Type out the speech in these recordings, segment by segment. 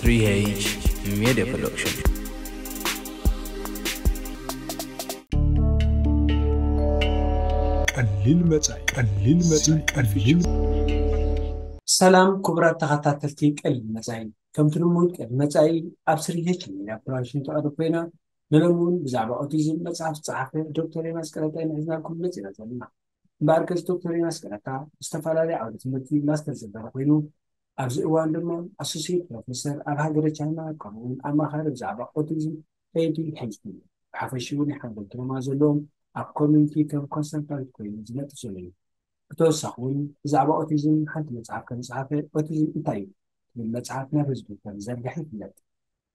Three H Media Production. ቀሊል መጻኢ፣ ቀሊል መጻኢ፣ ቀሊል። ሰላም ክቡራት ተኸታተልቲ ቀሊል መጻኢ፣ ከምቲ ልሙድ ቀሊል መጻኢ ኣብ ስሪሄች ሚድያ ፕሮዳክሽን ትቐርብ ኮይና፣ ንሎሚ እውን ብዛዕባ ኦቲዝም መጽሓፍ ዝጸሓፈ ዶክተር ዮናስ ቀለታ ኢና ሒዝናልኩም መጺና ዘለና። እምበኣርከስ ዶክተር ዮናስ ቀለታ ብዝተፈላለየ ዓውደ ትምህርቲ ማስተር ዘበረ ኮይኑ፣ ኣብዚ እዋን ድማ ኣሶሲየት ፕሮፌሰር ኣብ ሃገረ ቻይና፣ ከምኡውን ኣማኻሪ ብዛዕባ ኦቲዝም ኤ ዲ ኤች ዲ፣ ብሓፈሽኡ ናይ ሓንጎል ትሮማ ዘለዎም ኣብ ኮሚኒቲ ከም ኮንሰልታንት ኮይኑ ዝነጥፍ ዘሎ እዩ። ብተወሳኺ እውን ብዛዕባ ኦቲዝም ሓንቲ መጽሓፍ ከም ዝጸሓፈ፣ ኦቲዝም እንታይ እዩ ትብል መጽሓፍ ናብ ህዝቢ ከም ዝዘርግሐ ይፍለጥ።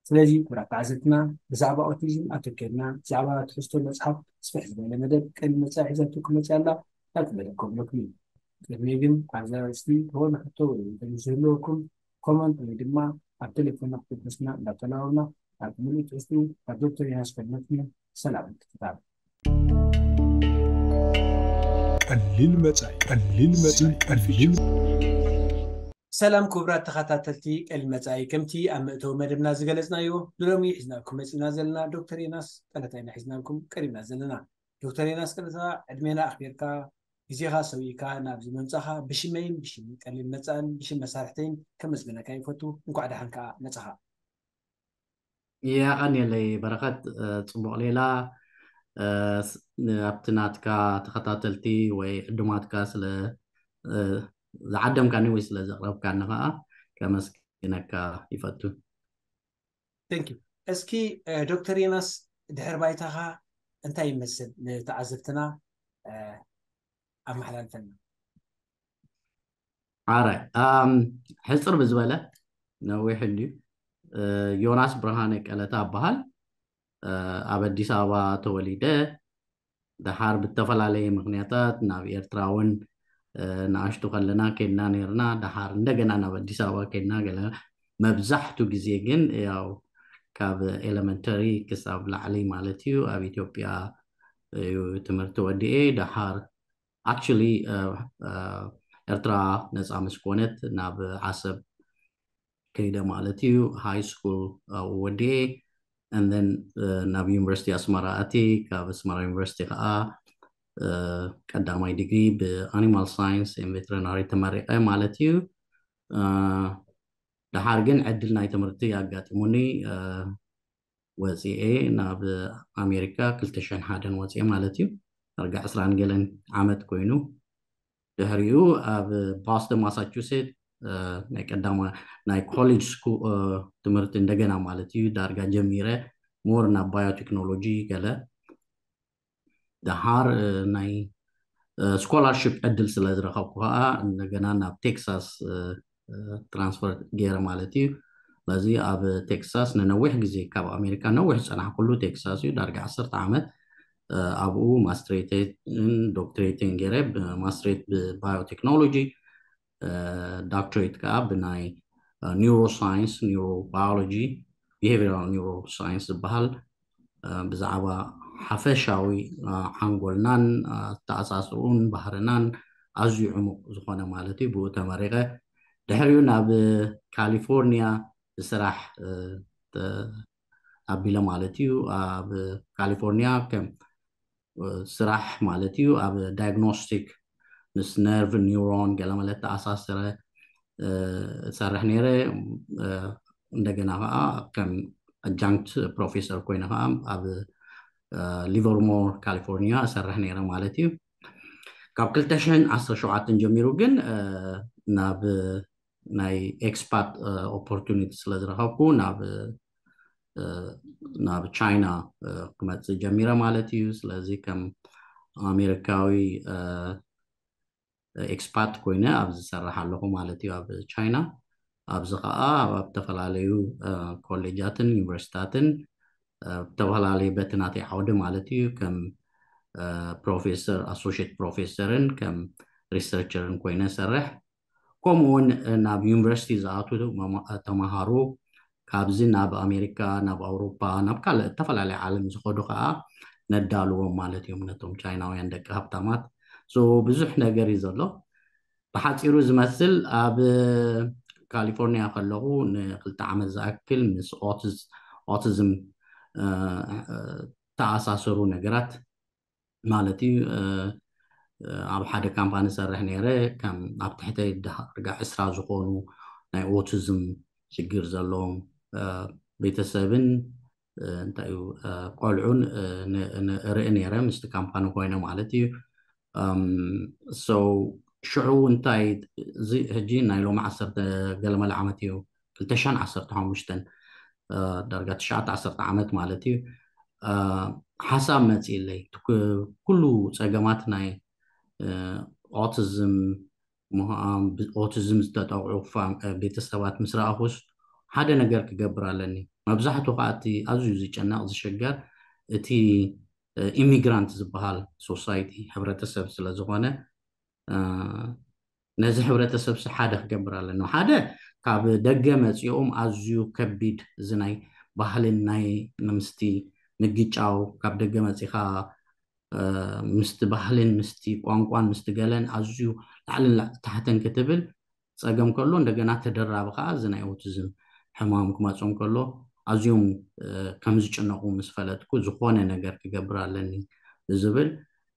ስለዚ ክቡራት ተዓዘብትና፣ ብዛዕባ ኦቲዝም ኣተኲርና ብዛዕባ ትሕዝቶ መጽሓፍ ስፍሕ ዝበለ መደብ ቀሊል መጻኢ ሒዛትኩም መጺኣ ኣላ። ናብቲ መደብ ከብለኩም እዩ። ቅድሚ ግን ኣብዚ ኣርእስቲ ዝኾነ ሕቶ ወይ እንተዝህልወኩም ኮመንት ወይ ድማ ኣብ ቴሌፎንና ክትደስና እንዳተላበብና፣ ኣብ ምሉእ ትሕዝትኡ ካብ ዶክተር ዮናስ ከድመጽኩም። ሰላም ምክትታል። ቀሊል መጻኢ፣ ቀሊል መጻኢ፣ ቀሊል። ሰላም ክቡራት ተኸታተልቲ ቀሊል መጻኢ፣ ከምቲ ኣብ መእተዊ መደብና ዝገለጽናዮ፣ ንሎሚ ሒዝናልኩም መጺና ዘለና ዶክተር ዮናስ ቀለታ ኢና ሒዝናልኩም ቀሪብና ዘለና። ዶክተር ዮናስ ቀለታ፣ ዕድሜና ኣኽቢርካ፣ ግዜኻ ሰዊእካ ናብዚ ምምጻኻ ብሽመይን ብሽም ቀሊል መጻእን ብሽም መሳርሕተይን ከመስግነካ ይፈቱ። እንኳዕ ደሓን ከኣ መጻኻ። የቐንየለይ በረኸት፣ እ፣ ጽቡቕ ሌላ፣ እ፣ ስ-፣ ን-፣ ኣብቲ ናትካ ተኸታተልቲ ወይ ዕዱማትካ ስለ፣ እ፣ ዝዓደምካኒ ወይ ስለ ዘቕረብካኒ ከኣ ከመስግነካ ይፈቱ። Thank you። እስኪ፣ እ፣ ዶክተር ዮናስ ድሕር ባይታኻ እንታይ ይመስል ንተዓዘብትና፣ እ፣ ኣመሓላልፈልና። ኣራይ፣ ኣም፣ ሕጽር ብዝበለ ነዊሕ እንድዩ። እ፣ ዮናስ ብርሃነ ቀለታ እበሃል። እ፣ ኣብ ኣዲስ ኣበባ ተወሊደ፣ ደሓር ብተፈላለየ ምኽንያታት ናብ ኤርትራ እውን፣ እ፣ ንኣሽቱ ከለና ከድና ነይርና። ደሓር እንደገና ናብ ኣዲስ ኣበባ ከድና ገለ። መብዛሕቱ ግዜ ግን ያው ካብ ኤለመንተሪ ክሳብ ላዕሊ ማለት እዩ ኣብ ኢትዮጵያ እዩ ትምህርቲ ወዲኤ። ደሓር ኣክቹሊ፣ እ፣ እ፣ ኤርትራ ነጻ ምስ ኮነት ናብ ዓሰብ ከይደ ማለት እዩ። ሃይ ስኩል ኣብኡ ወዲኤ፣ and then፣ እ፣ ናብ ዩኒቨርሲቲ ኣስመራ ኣትየ። ካብ ኣስመራ ዩኒቨርሲቲ ከዓ፣ እ፣ ቀዳማይ ዲግሪ ብ Animal Science and Veterinary ተመሪቐ ማለት እዩ። እ፣ ደሓር ግን ዕድል ናይ ትምህርቲ ኣጋጢሙኒ፣ እ፣ ወፂኤ ናብ ኣሜሪካ ክልተ ሽሕን ሓደን ወፂኤ ማለት እዩ። ዳርጋ ዕስራን ገለን ዓመት ኮይኑ፣ ድሕሪኡ ኣብ ቦስተን ማሳቹሴት፣ እ፣ ናይ ቀዳማ ናይ ኮሌጅ ስኩል፣ እ፣ ትምህርቲ እንደገና ማለት እዩ ዳርጋ ጀሚረ፣ ሞር ናብ ባዮቴክኖሎጂ ገለ። ደሓር፣ እ፣ ናይ፣ እ፣ ስኮላርሽፕ ዕድል ስለ ዝረኸብኩ ከዓ እንደገና ናብ ቴክሳስ፣ እ፣ እ፣ ትራንስፈር ገይረ ማለት እዩ። ስለዚ ኣብ ቴክሳስ ንነዊሕ ግዜ፣ ካብ ኣሜሪካ ነዊሕ ዝፀናሕኩሉ ቴክሳስ እዩ፣ ዳርጋ ዓሰርተ ዓመት፣ እ፣ ኣብኡ ማስትሬትን ዶክትሬትን ገይረ፣ ብ-፣ ማስትሬት ብባዮቴክኖሎጂ፣ እ፣ ዶክትሬት ከዓ ብናይ፣ እ፣ ኒውሮሳይንስ፣ ኒውሮባዮሎጂ፣ ቢሄቪራል ኒውሮሳይንስ ዝበሃል፣ እ፣ ብዛዕባ ሓፈሻዊ፣ እ፣ ሓንጎልናን፣ እ፣ ኣተኣሳስርኡን ባህርናን ኣዝዩ ዕሙቕ ዝኾነ ማለት እዩ። ብኡ ተመሪቐ። ድሕሪኡ ናብ ካሊፎርኒያ ብስራሕ፣ እ፣ ተ-፣ ኣቢለ ማለት እዩ። ኣብ ካሊፎርኒያ ከም፣ እ፣ ስራሕ ማለት እዩ ኣብ ዳያግኖስቲክ ምስ ነርቭ፣ ኒውሮን፣ ገለመለ ተኣሳሰረ፣ እ፣ እሰርሕ ነይረ። እ፣ እንደገና ከዓ ከም ኣጃንክት ፕሮፌሰር ኮይነ ከዓ ኣብ፣ እ፣ ሊቨርሞር ካሊፎርኒያ እሰርሕ ነይረ ማለት እዩ። ካብ ክልተ ሽሕን ዓሰርተ ሸውዓተን ጀሚሩ ግን፣ እ፣ ናብ ናይ ኤክስፓት፣ እ፣ ኦፖርቱኒቲ ስለ ዝረኸብኩ ናብ፣ እ፣ ናብ ቻይና፣ እ፣ ክመጽእ ጀሚረ ማለት እዩ። ስለዚ ከም ኣሜሪካዊ፣ እ፣ ኤክስፓት ኮይነ ኣብዚ ዝሰርሕ ኣለኹ ማለት እዩ ኣብ ቻይና። ኣብዚ ኸዓ ኣብ፣ ኣብ ዝተፈላለዩ፣ እ፣ ኮሌጃትን ዩኒቨርሲታትን፣ እ፣ ብተፈላለየ በቲ ናተይ ዓውዲ ማለት እዩ ከም፣ እ፣ ፕሮፌሰር፣ ኣሶሽየት ፕሮፌሰርን ከም ሪሰርቸርን ኮይነ ሰርሕ። ከምኡ እውን ናብ ዩኒቨርሲቲ ዝኣትዉ መማ-፣ ተምሃሮ ካብዚ ናብ ኣሜሪካ፣ ናብ ኣውሮፓ፣ ናብ ካልእ ዝተፈላለየ ዓለም ዝኸዱ ከዓ ነዳልዎም ማለት እዮም ነቶም ቻይናውያን ደቂ ሃብታማት። ሶ ብዙሕ ነገር እዩ ዘሎ። ብሓፂሩ ዝመስል ኣብ ካሊፎርኒያ ከለኹ ንክልተ ዓመት ዝኣክል ምስ ኦቲዝም ተኣሳሰሩ ነገራት ማለት እዩ። ኣብ ሓደ ካምፓኒ ሰርሕ ነይረ። ከም ኣብ ትሕተይ ዳርጋ ዕስራ ዝኾኑ ናይ ኦቲዝም ሽግር ዘለዎም ቤተሰብን እንታይ እዩ ቆልዑን ርኢ ነይረ ምስቲ ካምፓኒ ኮይነ ማለት እዩ። So ሽዑ እንታይ እዚ ሕጂ ናይ ሎሚ ዓሰርተ ገለመለ ዓመት እዩ፣ ክልተ ሽሕን ዓሰርተ ሓሙሽተን ዳርጋ ትሽዓተ ዓሰርተ ዓመት ማለት እዩ። ሓሳብ መፂእለይ ኩሉ ፀገማት ናይ ኦቲዝም ኦቲዝም ዝተጠቕዑ ቤተሰባት ምስ ረኣኹስ ሓደ ነገር ክገብር ኣለኒ። መብዛሕትኡ ከዓ እቲ ኣዝዩ ዝጨነቕ ዝሽገር እቲ ኢሚግራንት ዝበሃል ሶሳይቲ ሕብረተሰብ ስለዝኾነ ነዚ ሕብረተሰብ ሲ ሓደ ክገብር ኣለኒ። ሓደ ካብ ደገ መፂኦም ኣዝዩ ከቢድ እዚ ናይ ባህልን ናይ ምስቲ ምግጫው ካብ ደገ መፂኻ ምስቲ ባህልን ምስቲ ቋንቋን ምስቲ ገለን ኣዝዩ ላዕልን ታሕትን ክትብል ፀገም ከሎ እንደገና ተደራቢ ከዓ እዚ ናይ ኦቲዝም ሕማም ክመፆም ከሎ ኣዝዮም ከም ዝጭነቑ ምስ ፈለጥኩ ዝኾነ ነገር ክገብር ኣለኒ ብዝብል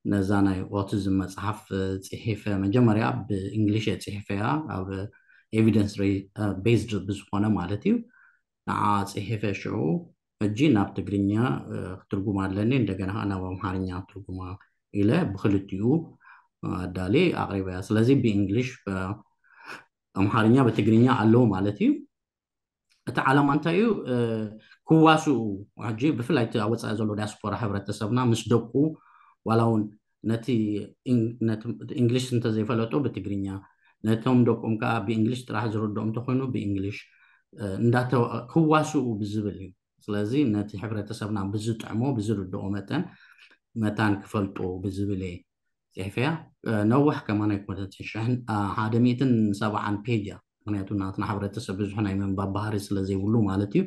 ነዛ ናይ ኦቲዝም መፅሓፍ ፅሒፈ። መጀመርያ ብእንግሊሽ እየ ፅሒፈያ ኣብ ኤቪደንስ ቤዝድ ብዝኾነ ማለት እዩ። ንዓ ፅሒፈ ሽዑ ሕጂ ናብ ትግርኛ ክትርጉማ ኣለኒ፣ እንደገና ከዓ ናብ ኣምሓርኛ ትርጉማ ኢለ ብክልቲኡ ኣዳሊ ኣቅሪበያ። ስለዚ ብእንግሊሽ ኣምሓርኛ ብትግርኛ ኣለዉ ማለት እዩ። እቲ ዓላማ እንታይ እዩ? ክዋስኡ ሕጂ ብፍላይ እቲ ኣብ ወፃኢ ዘሎ ዲያስፖራ ሕብረተሰብና ምስ ደቁ ዋላ እውን ነቲ እንግሊሽ እንተዘይፈለጡ ብትግርኛ ነቶም ደቆም ከዓ ብእንግሊሽ ጥራሕ ዝርድኦም እንተኮይኑ ብእንግሊሽ ክዋስኡ ብዝብል እዩ። ስለዚ ነቲ ሕብረተሰብና ብዝጥዕሞ ብዝርድኦ መጠን መታን ክፈልጡ ብዝብል እየ ፅሒፈያ። ነዋሕ ከማን ኣይኮነትን፣ ሽሕን ሓደ ሚእትን ሰብዓን ፔጅ እያ። ምክንያቱ ናትና ሕብረተሰብ ብዙሕ ናይ ምንባብ ባህሪ ስለዘይብሉ ማለት እዩ።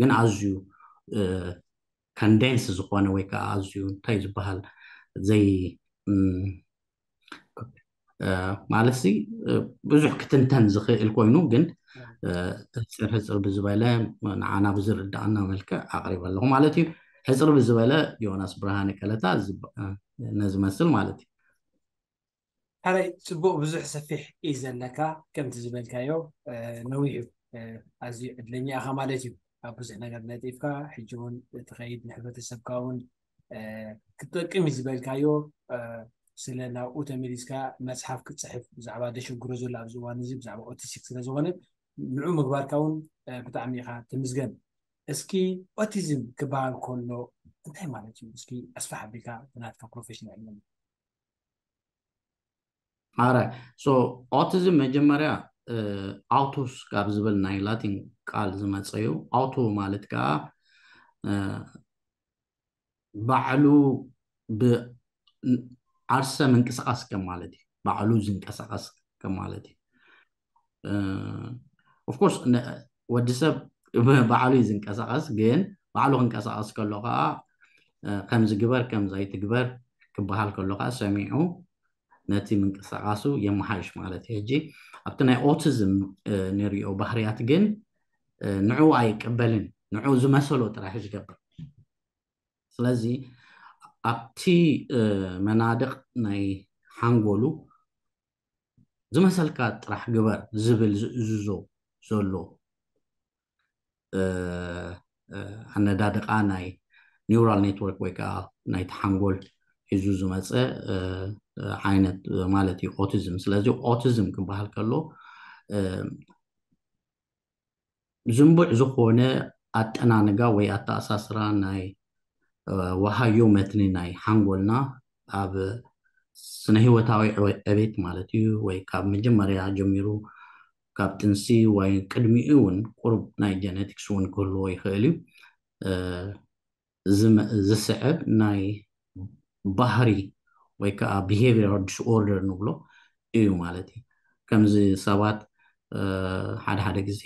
ግን ኣዝዩ ከንደንስ ዝኾነ ወይ ከዓ ኣዝዩ እንታይ ዝበሃል ዘይ ማለት ሲ ብዙሕ ክትንተን ዝኽእል ኮይኑ ግን ሕፅር ሕፅር ብዝበለ ንዓና ብዝርዳእና መልክዕ ኣቅሪበ ኣለኹ ማለት እዩ። ሕፅር ብዝበለ ዮናስ ብርሃነ ቀለታ ነዚ መስል ማለት እዩ። ሓራይ ፅቡቅ ብዙሕ ሰፊሕ እዩ ዘለካ። ከምቲ ዝበልካዮ ነዊሕ እዩ። ኣዝዩ ዕድለኛ ኢኻ ማለት እዩ። ኣብ ብዙሕ ነገር ነጢፍካ ሕጂ እውን ትኸይድ ንሕብረተሰብካ እውን ክትጠቅም እዩ ዝበልካዮ ስለ ናብኡ ተመሊስካ መፅሓፍ ክትፅሕፍ ብዛዕባ ደሸግሮ ዘሎ ኣብዚ እዋን እዚ ብዛዕባ ኦቲስቲክ ስለዝኾነ ንዑ ምግባርካ እውን ብጣዕሚ ኢኻ ትምዝገን። እስኪ ኦቲዝም ክበሃል ከሎ እንታይ ማለት እዩ? እስኪ ኣስፋሕ ኣቢልካ ብናትካ ፕሮፌሽናል ኣረ ኦቲዝም መጀመርያ ኣውቶስ ካብ ዝብል ናይ ላቲን ቃል ዝመፀ እዩ። ኣውቶ ማለት ከዓ ባዕሉ ብዓርሰ ምንቅስቃስ ከም ማለት እዩ። ባዕሉ ዝንቀሳቀስ ከም ማለት እዩ። ኦፍኮርስ ወዲ ሰብ ባዕሉ እዩ ዝንቀሳቀስ፣ ግን ባዕሉ ክንቀሳቀስ ከሎ ከዓ ከምዚ ግበር ከምዚ ኣይትግበር ክበሃል ከሎ ከዓ ሰሚዑ ነቲ ምንቅስቃሱ የመሓይሽ ማለት እዩ። ሕጂ ኣብቲ ናይ ኦቲዝም ንሪኦ ባህርያት ግን ንዑ ኣይቀበልን፣ ንዑ ዝመሰሎ ጥራሕ ዝገብር። ስለዚ ኣብቲ መናድቕ ናይ ሓንጎሉ ዝመሰልካ ጥራሕ ግበር ዝብል ዝእዝዞ ዘሎ ኣነዳድቃ ናይ ኒውራል ኔትወርክ ወይ ከዓ ናይቲ ሓንጎል ሒዙ ዝመፀ ዓይነት ማለት እዩ ኦቲዝም። ስለዚ ኦቲዝም ክበሃል ከሎ ዝንቡዕ ዝኾነ ኣጠናንጋ ወይ ኣተኣሳስራ ናይ ወሃዮ መትኒ ናይ ሓንጎልና ኣብ ስነ ህይወታዊ ዕቤት ማለት እዩ፣ ወይ ካብ መጀመርያ ጀሚሩ ካብ ጥንሲ ወይ ቅድሚኡ እውን ቁሩብ ናይ ጀነቲክስ እውን ክህልዎ ይኽእል እዩ። ዝስዕብ ናይ ባህሪ ወይ ከዓ behavioral disorder ንብሎ እዩ ማለት እዩ። ከምዚ ሰባት ሓደ ሓደ ግዜ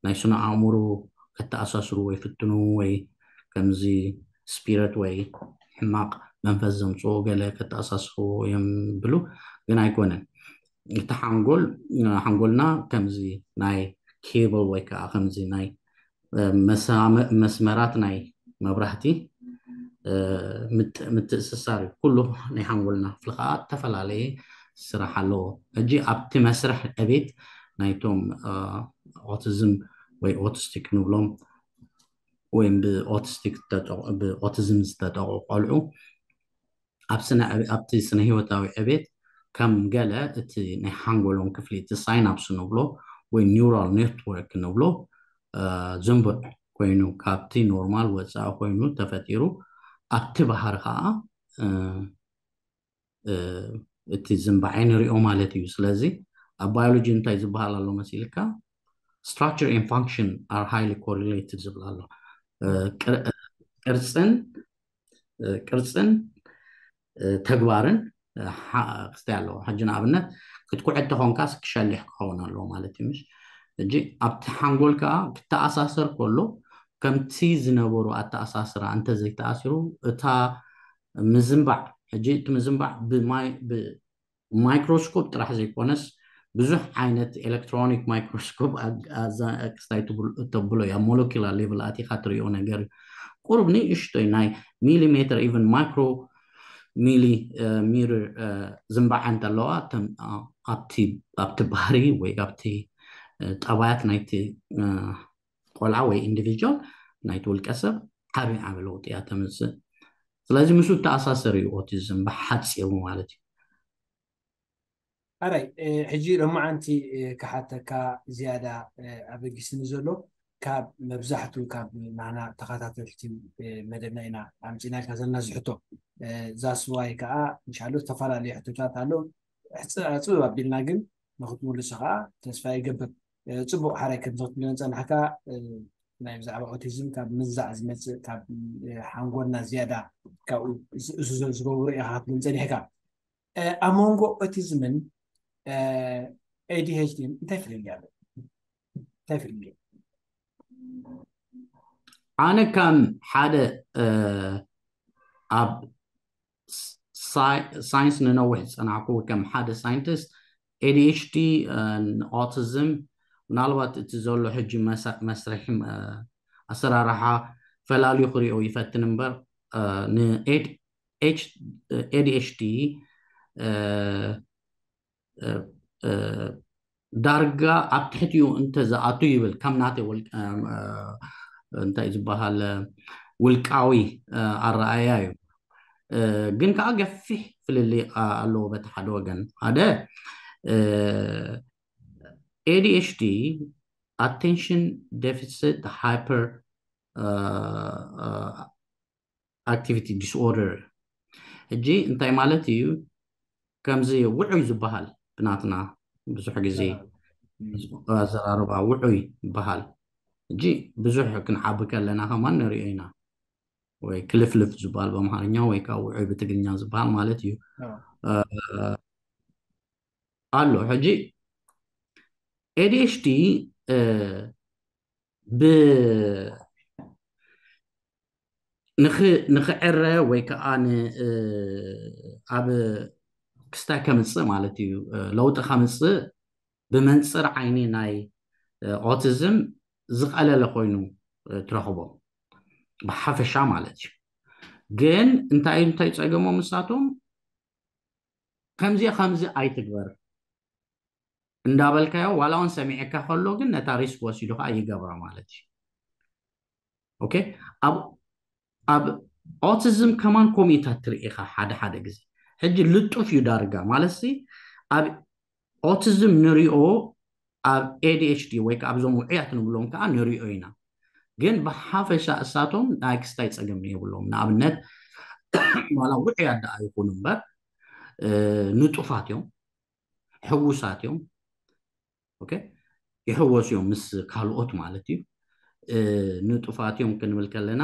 ናይ ስነ ኣእምሮ ከተኣሳስሩ ወይ ፍትኑ ወይ ከምዚ ስፒረት ወይ ሕማቕ መንፈስ ዘምፅኦ ገለ ከተኣሳስሩ እዮም ብሉ፣ ግን ኣይኮነን። እቲ ሓንጎል ሓንጎልና ከምዚ ናይ ኬብል ወይ ከዓ ከምዚ ናይ መስመራት ናይ መብራህቲ ምትእስሳር እዩ። ኩሉ ናይ ሓንጎልና ክፍሊ ከዓ ዝተፈላለየ ስራሕ ኣለዎ። ሕጂ ኣብቲ መስርሕ ዕቤት ናይቶም ኦቲዝም ወይ ኦቲስቲክ ንብሎም ወይም ብኦቲስቲክ ብኦቲዝም ዝተጠቑ ቆልዑ ኣብቲ ስነ ህይወታዊ ዕቤት ከም ገለ እቲ ናይ ሓንጎሎም ክፍሊ እቲ ሳይናፕስ ንብሎ ወይ ኒውራል ኔትወርክ ንብሎ ዝንቡዕ ኮይኑ ካብቲ ኖርማል ወፃኢ ኮይኑ ተፈጢሩ ኣብቲ ባህሪ ከዓ እቲ ዝንባዕ ንሪኦ ማለት እዩ። ስለዚ ኣብ ባዮሎጂ እንታይ ዝበሃል ኣሎ መሲልካ? Structure and function are highly correlated ዝብል ኣሎ። ቅርፅን ቅርፅን ተግባርን ክስታይ ኣለዎ። ሕጂ ንኣብነት ክትኩዐ ተኾንካስ ክሸልሕ ክኸውን ኣለዎ ማለት እዩ። ምሽ ሕጂ ኣብቲ ሓንጎል ከዓ ክተኣሳሰር ከሎ ከምቲ ዝነበሩ ኣተኣሳስራ እንተዘይተኣሲሩ እታ ምዝንባዕ ሕጂ እቲ ምዝንባዕ ብማይ ማይክሮስኮፕ ጥራሕ ዘይኮነስ ብዙሕ ዓይነት ኤሌክትሮኒክ ማይክሮስኮፕ ክስታይ ተብሎ እያ ሞለኪላር ሌቭል ኣቲካ ትሪኦ ነገር እዩ። ቁሩብ ንእሽቶይ ናይ ሚሊሜትር ኢቨን ማይክሮ ሚሊ ሚር ዝንባዓ እንተለዋ ኣብቲ ባህሪ ወይ ኣብቲ ጠባያት ናይቲ ቆልዓ ወይ ኢንዲቪጁዋል ናይቲ ውልቀ ሰብ ዓብዪ ዓብዪ ለውጢ እያ ተምፅእ። ስለዚ ምስኡ ተኣሳሰር እዩ ኦቲዝም ብሓፂሩ ማለት እዩ። ኣራይ ሕጂ ሎማዓንቲ ክሓተካ ዝያዳ ኣበጊስኒ ዘሎ ካብ መብዛሕቱ ካብ ናና ተኸታተልቲ መደብና ኢና ኣምፂናልካ ዘለና ዝሕቶ ዛስዋይ ከዓ እንሻሎ ዝተፈላለዩ ሕቶታት ኣሎ ሕፅፅብ ኣቢልና ግን ንክትምልሶ ከዓ ተስፋ ይገብር። ፅቡቅ ሓራይ ከምዚ ክትብለን ፀናሕካ ናይ ብዛዕባ ኦቲዝም ካብ ምንዛዕ ዝመፅእ ካብ ሓንጎልና ዝያዳ ካብኡ እሱ ዝገብሩ ኢኻ ክትብለን ፀኒሕካ ኣብ መንጎ ኦቲዝምን ኤዲኤችዲ እንታይ ፍልልይ ኣሎ እንታይ ፍልልይ ኣነ ከም ሓደ ኣብ ሳይንስ ንነዊሕ ዝፀናዕኩ ከም ሓደ ሳይንቲስት ኤዲኤችዲ ኦቲዝም ምናልባት እቲ ዘሎ ሕጂ መስርሒ ኣሰራርሓ ፈላልዩ ክሪኦ ይፈትን እምበር ንኤዲኤችዲ ዳርጋ ኣብ ትሕቲኡ እንተዝኣቱ ይብል ከም ናተይ እንታይ ዝበሃል ውልቃዊ ኣረኣያ እዩ። ግን ከዓ ገፊሕ ፍልልይ ኣለዎ በቲ ሓደ ወገን ሓደ ኤዲኤችዲ attention deficit hyper activity disorder ሕጂ እንታይ ማለት እዩ? ከምዚ ውዑይ ዝበሃል ብናትና ብዙሕ ግዜ ኣዘራርባ ውዑይ ይበሃል። ሕጂ ብዙሕ ክንዓቢ ከለና ከማን ንሪኦ ኢና ወይ ክልፍልፍ ዝበሃል በኣምሓርኛ ወይ ከዓ ውዑይ ብትግርኛ ዝበሃል ማለት እዩ ኣሎ። ሕጂ ኤዲኤችዲ ብ ንኽዕረ ወይ ከዓ ኣብ ክስታይ ከምፅእ ማለት እዩ ለውጢ ከምፅእ ብመንፅር ዓይኒ ናይ ኦቲዝም ዝቐለለ ኮይኑ ትረኽቦ ብሓፈሻ ማለት እዩ። ግን እንታይ እንታይ ፀገሞም ንሳቶም ከምዚ ከምዚ ኣይትግበር እንዳበልካዮ ዋላ እውን ሰሚዕካ ከሎ ግን ነታ ሪስክ ወሲዱ ከዓ ይገብራ ማለት እዩ። ኦኬ ኣብ ኣብ ኦቲዝም ከማን ኮሚታት ትርኢ ኢኻ ሓደ ሓደ ግዜ ሕጂ ልጡፍ እዩ ዳርጋ ማለት ሲ ኣብ ኦቲዝም ንሪኦ ኣብ ኤዲኤችዲ ወይ ከዓ ኣብዞም ውዕያት ንብሎም ከዓ ንሪኦ ኢና። ግን ብሓፈሻ እሳቶም ናይ ክስታይ ፀገም የብሎም። ንኣብነት ዋላ ውዕያት ደኣ ይኹኑ እምበር ንጡፋት እዮም፣ ሕጉሳት እዮም። ኦኬ ይሕወሱ እዮም ምስ ካልኦት ማለት እዩ። ንጡፋት እዮም ክንብል ከለና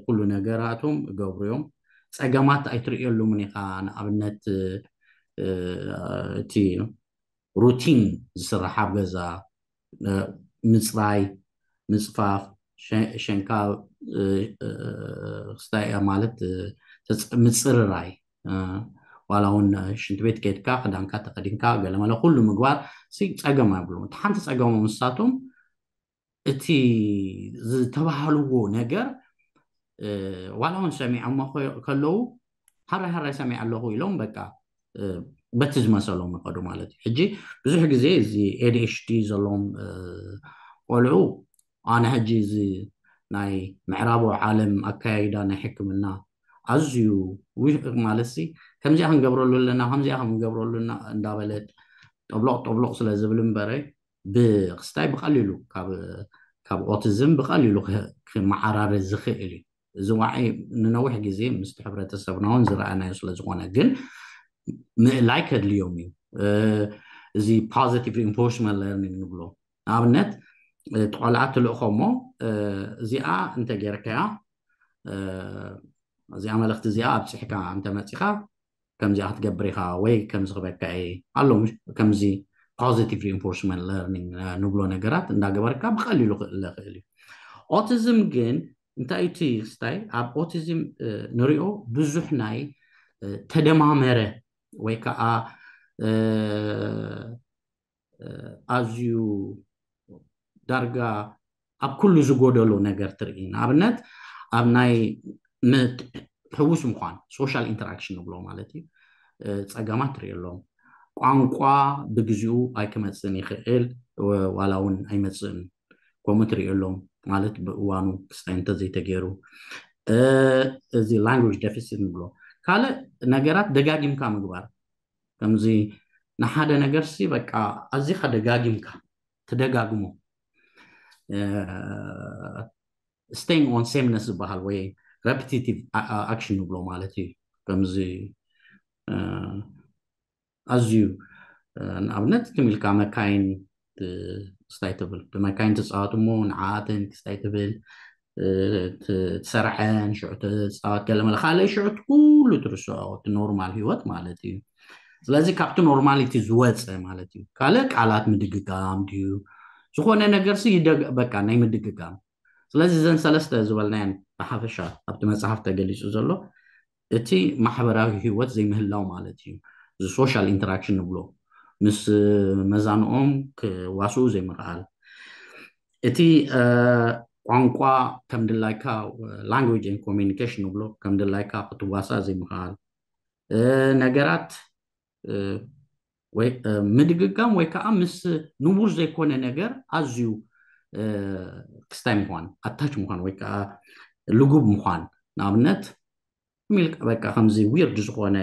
ኩሉ ነገራቶም እገብሩ እዮም። ፀገማት ኣይትርእየሉምን ኢኻ። ንኣብነት እቲ ሩቲን ዝስራሕ ኣብ ገዛ ምፅራይ፣ ምፅፋፍ፣ ሸንካ ክስታይ ማለት ምፅርራይ ዋላ እውን ሽንቲ ቤት ከይድካ ክዳንካ ተኸዲንካ ገለመለ ኩሉ ምግባር ሲ ጸገም ኣይብሉም። እቲ ሓንቲ ጸገሞም ንሳቶም እቲ ዝተባህልዎ ነገር ዋላ እውን ሰሚዖሞ ከለዉ ሃራይ ሃራይ ሰሚዐ ኣለኹ ኢሎም በቃ በቲ ዝመሰሎም ይኸዱ ማለት እዩ። ሕጂ ብዙሕ ግዜ እዚ ኤዲኤችዲ ዘለዎም ቆልዑ ኣነ ሕጂ እዚ ናይ ምዕራባዊ ዓለም ኣካያይዳ ናይ ሕክምና ኣዝዩ ማለት ሲ ከምዚኣ ክንገብረሉ ኣለና ከምዚኣ ክንገብረሉ ኣለና እንዳበለ ጠብሎቕ ጠብሎቕ ስለ ዝብል እምበረ ብክስታይ ብቐሊሉ ካብ ኦቲዝም ብቐሊሉ ክመዓራረ ዝኽእል እዩ። እዚ ዋዒ ንነዊሕ ግዜ ምስቲ ሕብረተሰብና እውን ዝረኣናዮ ስለ ዝኾነ ግን ምእላይ ከድልዮም እዩ። እዚ positive reinforcement learning ንብሎ ንኣብነት እቲ ቆልዓ ትልእኾ እሞ እዚኣ እንተጌርካያ እዚኣ መልእኽቲ እዚኣ ኣብፅሕካ እንተመፂኻ ከምዚኣ ክትገብር ኢኻ ወይ ከምዚ ክበካ እየ ኣሎ ከምዚ positive reinforcement learning ንብሎ ነገራት እንዳገበርካ ብቐሊሉ ክእለ ክእል እዩ። ኦቲዝም ግን እንታይ እቲ ክስታይ ኣብ ኦቲዝም ንሪኦ ብዙሕ ናይ ተደማመረ ወይ ከዓ ኣዝዩ ዳርጋ ኣብ ኩሉ ዝጎደሎ ነገር ትርኢ። ንኣብነት ኣብ ናይ ሕውስ ምዃን social interaction ንብሎ ማለት እዩ ጸገማት ትርኢ ኣለዎም። ቋንቋ ብግዚኡ ኣይክመፅእን ይኽእል ዋላ እውን ኣይመፅእን ከምኡ ትርኢ ኣለዎም ማለት ብእዋኑ ክስታይ እንተዘይተገይሩ እዚ language deficit ንብሎ ካልእ ነገራት ደጋጊምካ ምግባር ከምዚ ንሓደ ነገር ሲ በቃ ኣዚኻ ደጋጊምካ ትደጋግሞ staying on sameness ዝበሃል ወይ repetitive action ንብሎ ማለት እዩ ከምዚ ኣዝዩ ንኣብነት ትም ኢልካ መካይን ክስታይ ትብል ብመካይን ትፃወት እሞ ንዓኣተን ክስታይ ትብል ትሰርዐን ሽዑ ትፃወት ገለ መለ ካልእ ሽዑ ኩሉ ትርስዖ እቲ ኖርማል ህይወት ማለት እዩ። ስለዚ ካብቲ normality ዝወፀ ማለት እዩ። ካልእ ቃላት ምድግጋም ድዩ ዝኾነ ነገር ሲ ይደግ በቃ ናይ ምድግጋም ስለዚ እዘን ሰለስተ ዝበልናየን ብሓፈሻ ኣብቲ መፅሓፍ ተገሊፁ ዘሎ እቲ ማሕበራዊ ህይወት ዘይምህላው ማለት እዩ። እዚ social interaction ንብሎ ምስ መዛንኦም ክዋስኡ ዘይምኽኣል እቲ ቋንቋ ከም ድላይካ language and communication ንብሎ ከም ድላይካ ክትዋሳእ ዘይምኽኣል ነገራት ወይ ምድግጋም ወይ ከዓ ምስ ንቡር ዘይኮነ ነገር ኣዝዩ ክስታይ ምኳን ኣታች ምኳን ወይ ከዓ ልጉብ ምኳን ንኣብነት ሚልካ በቃ ከምዚ weird ዝኾነ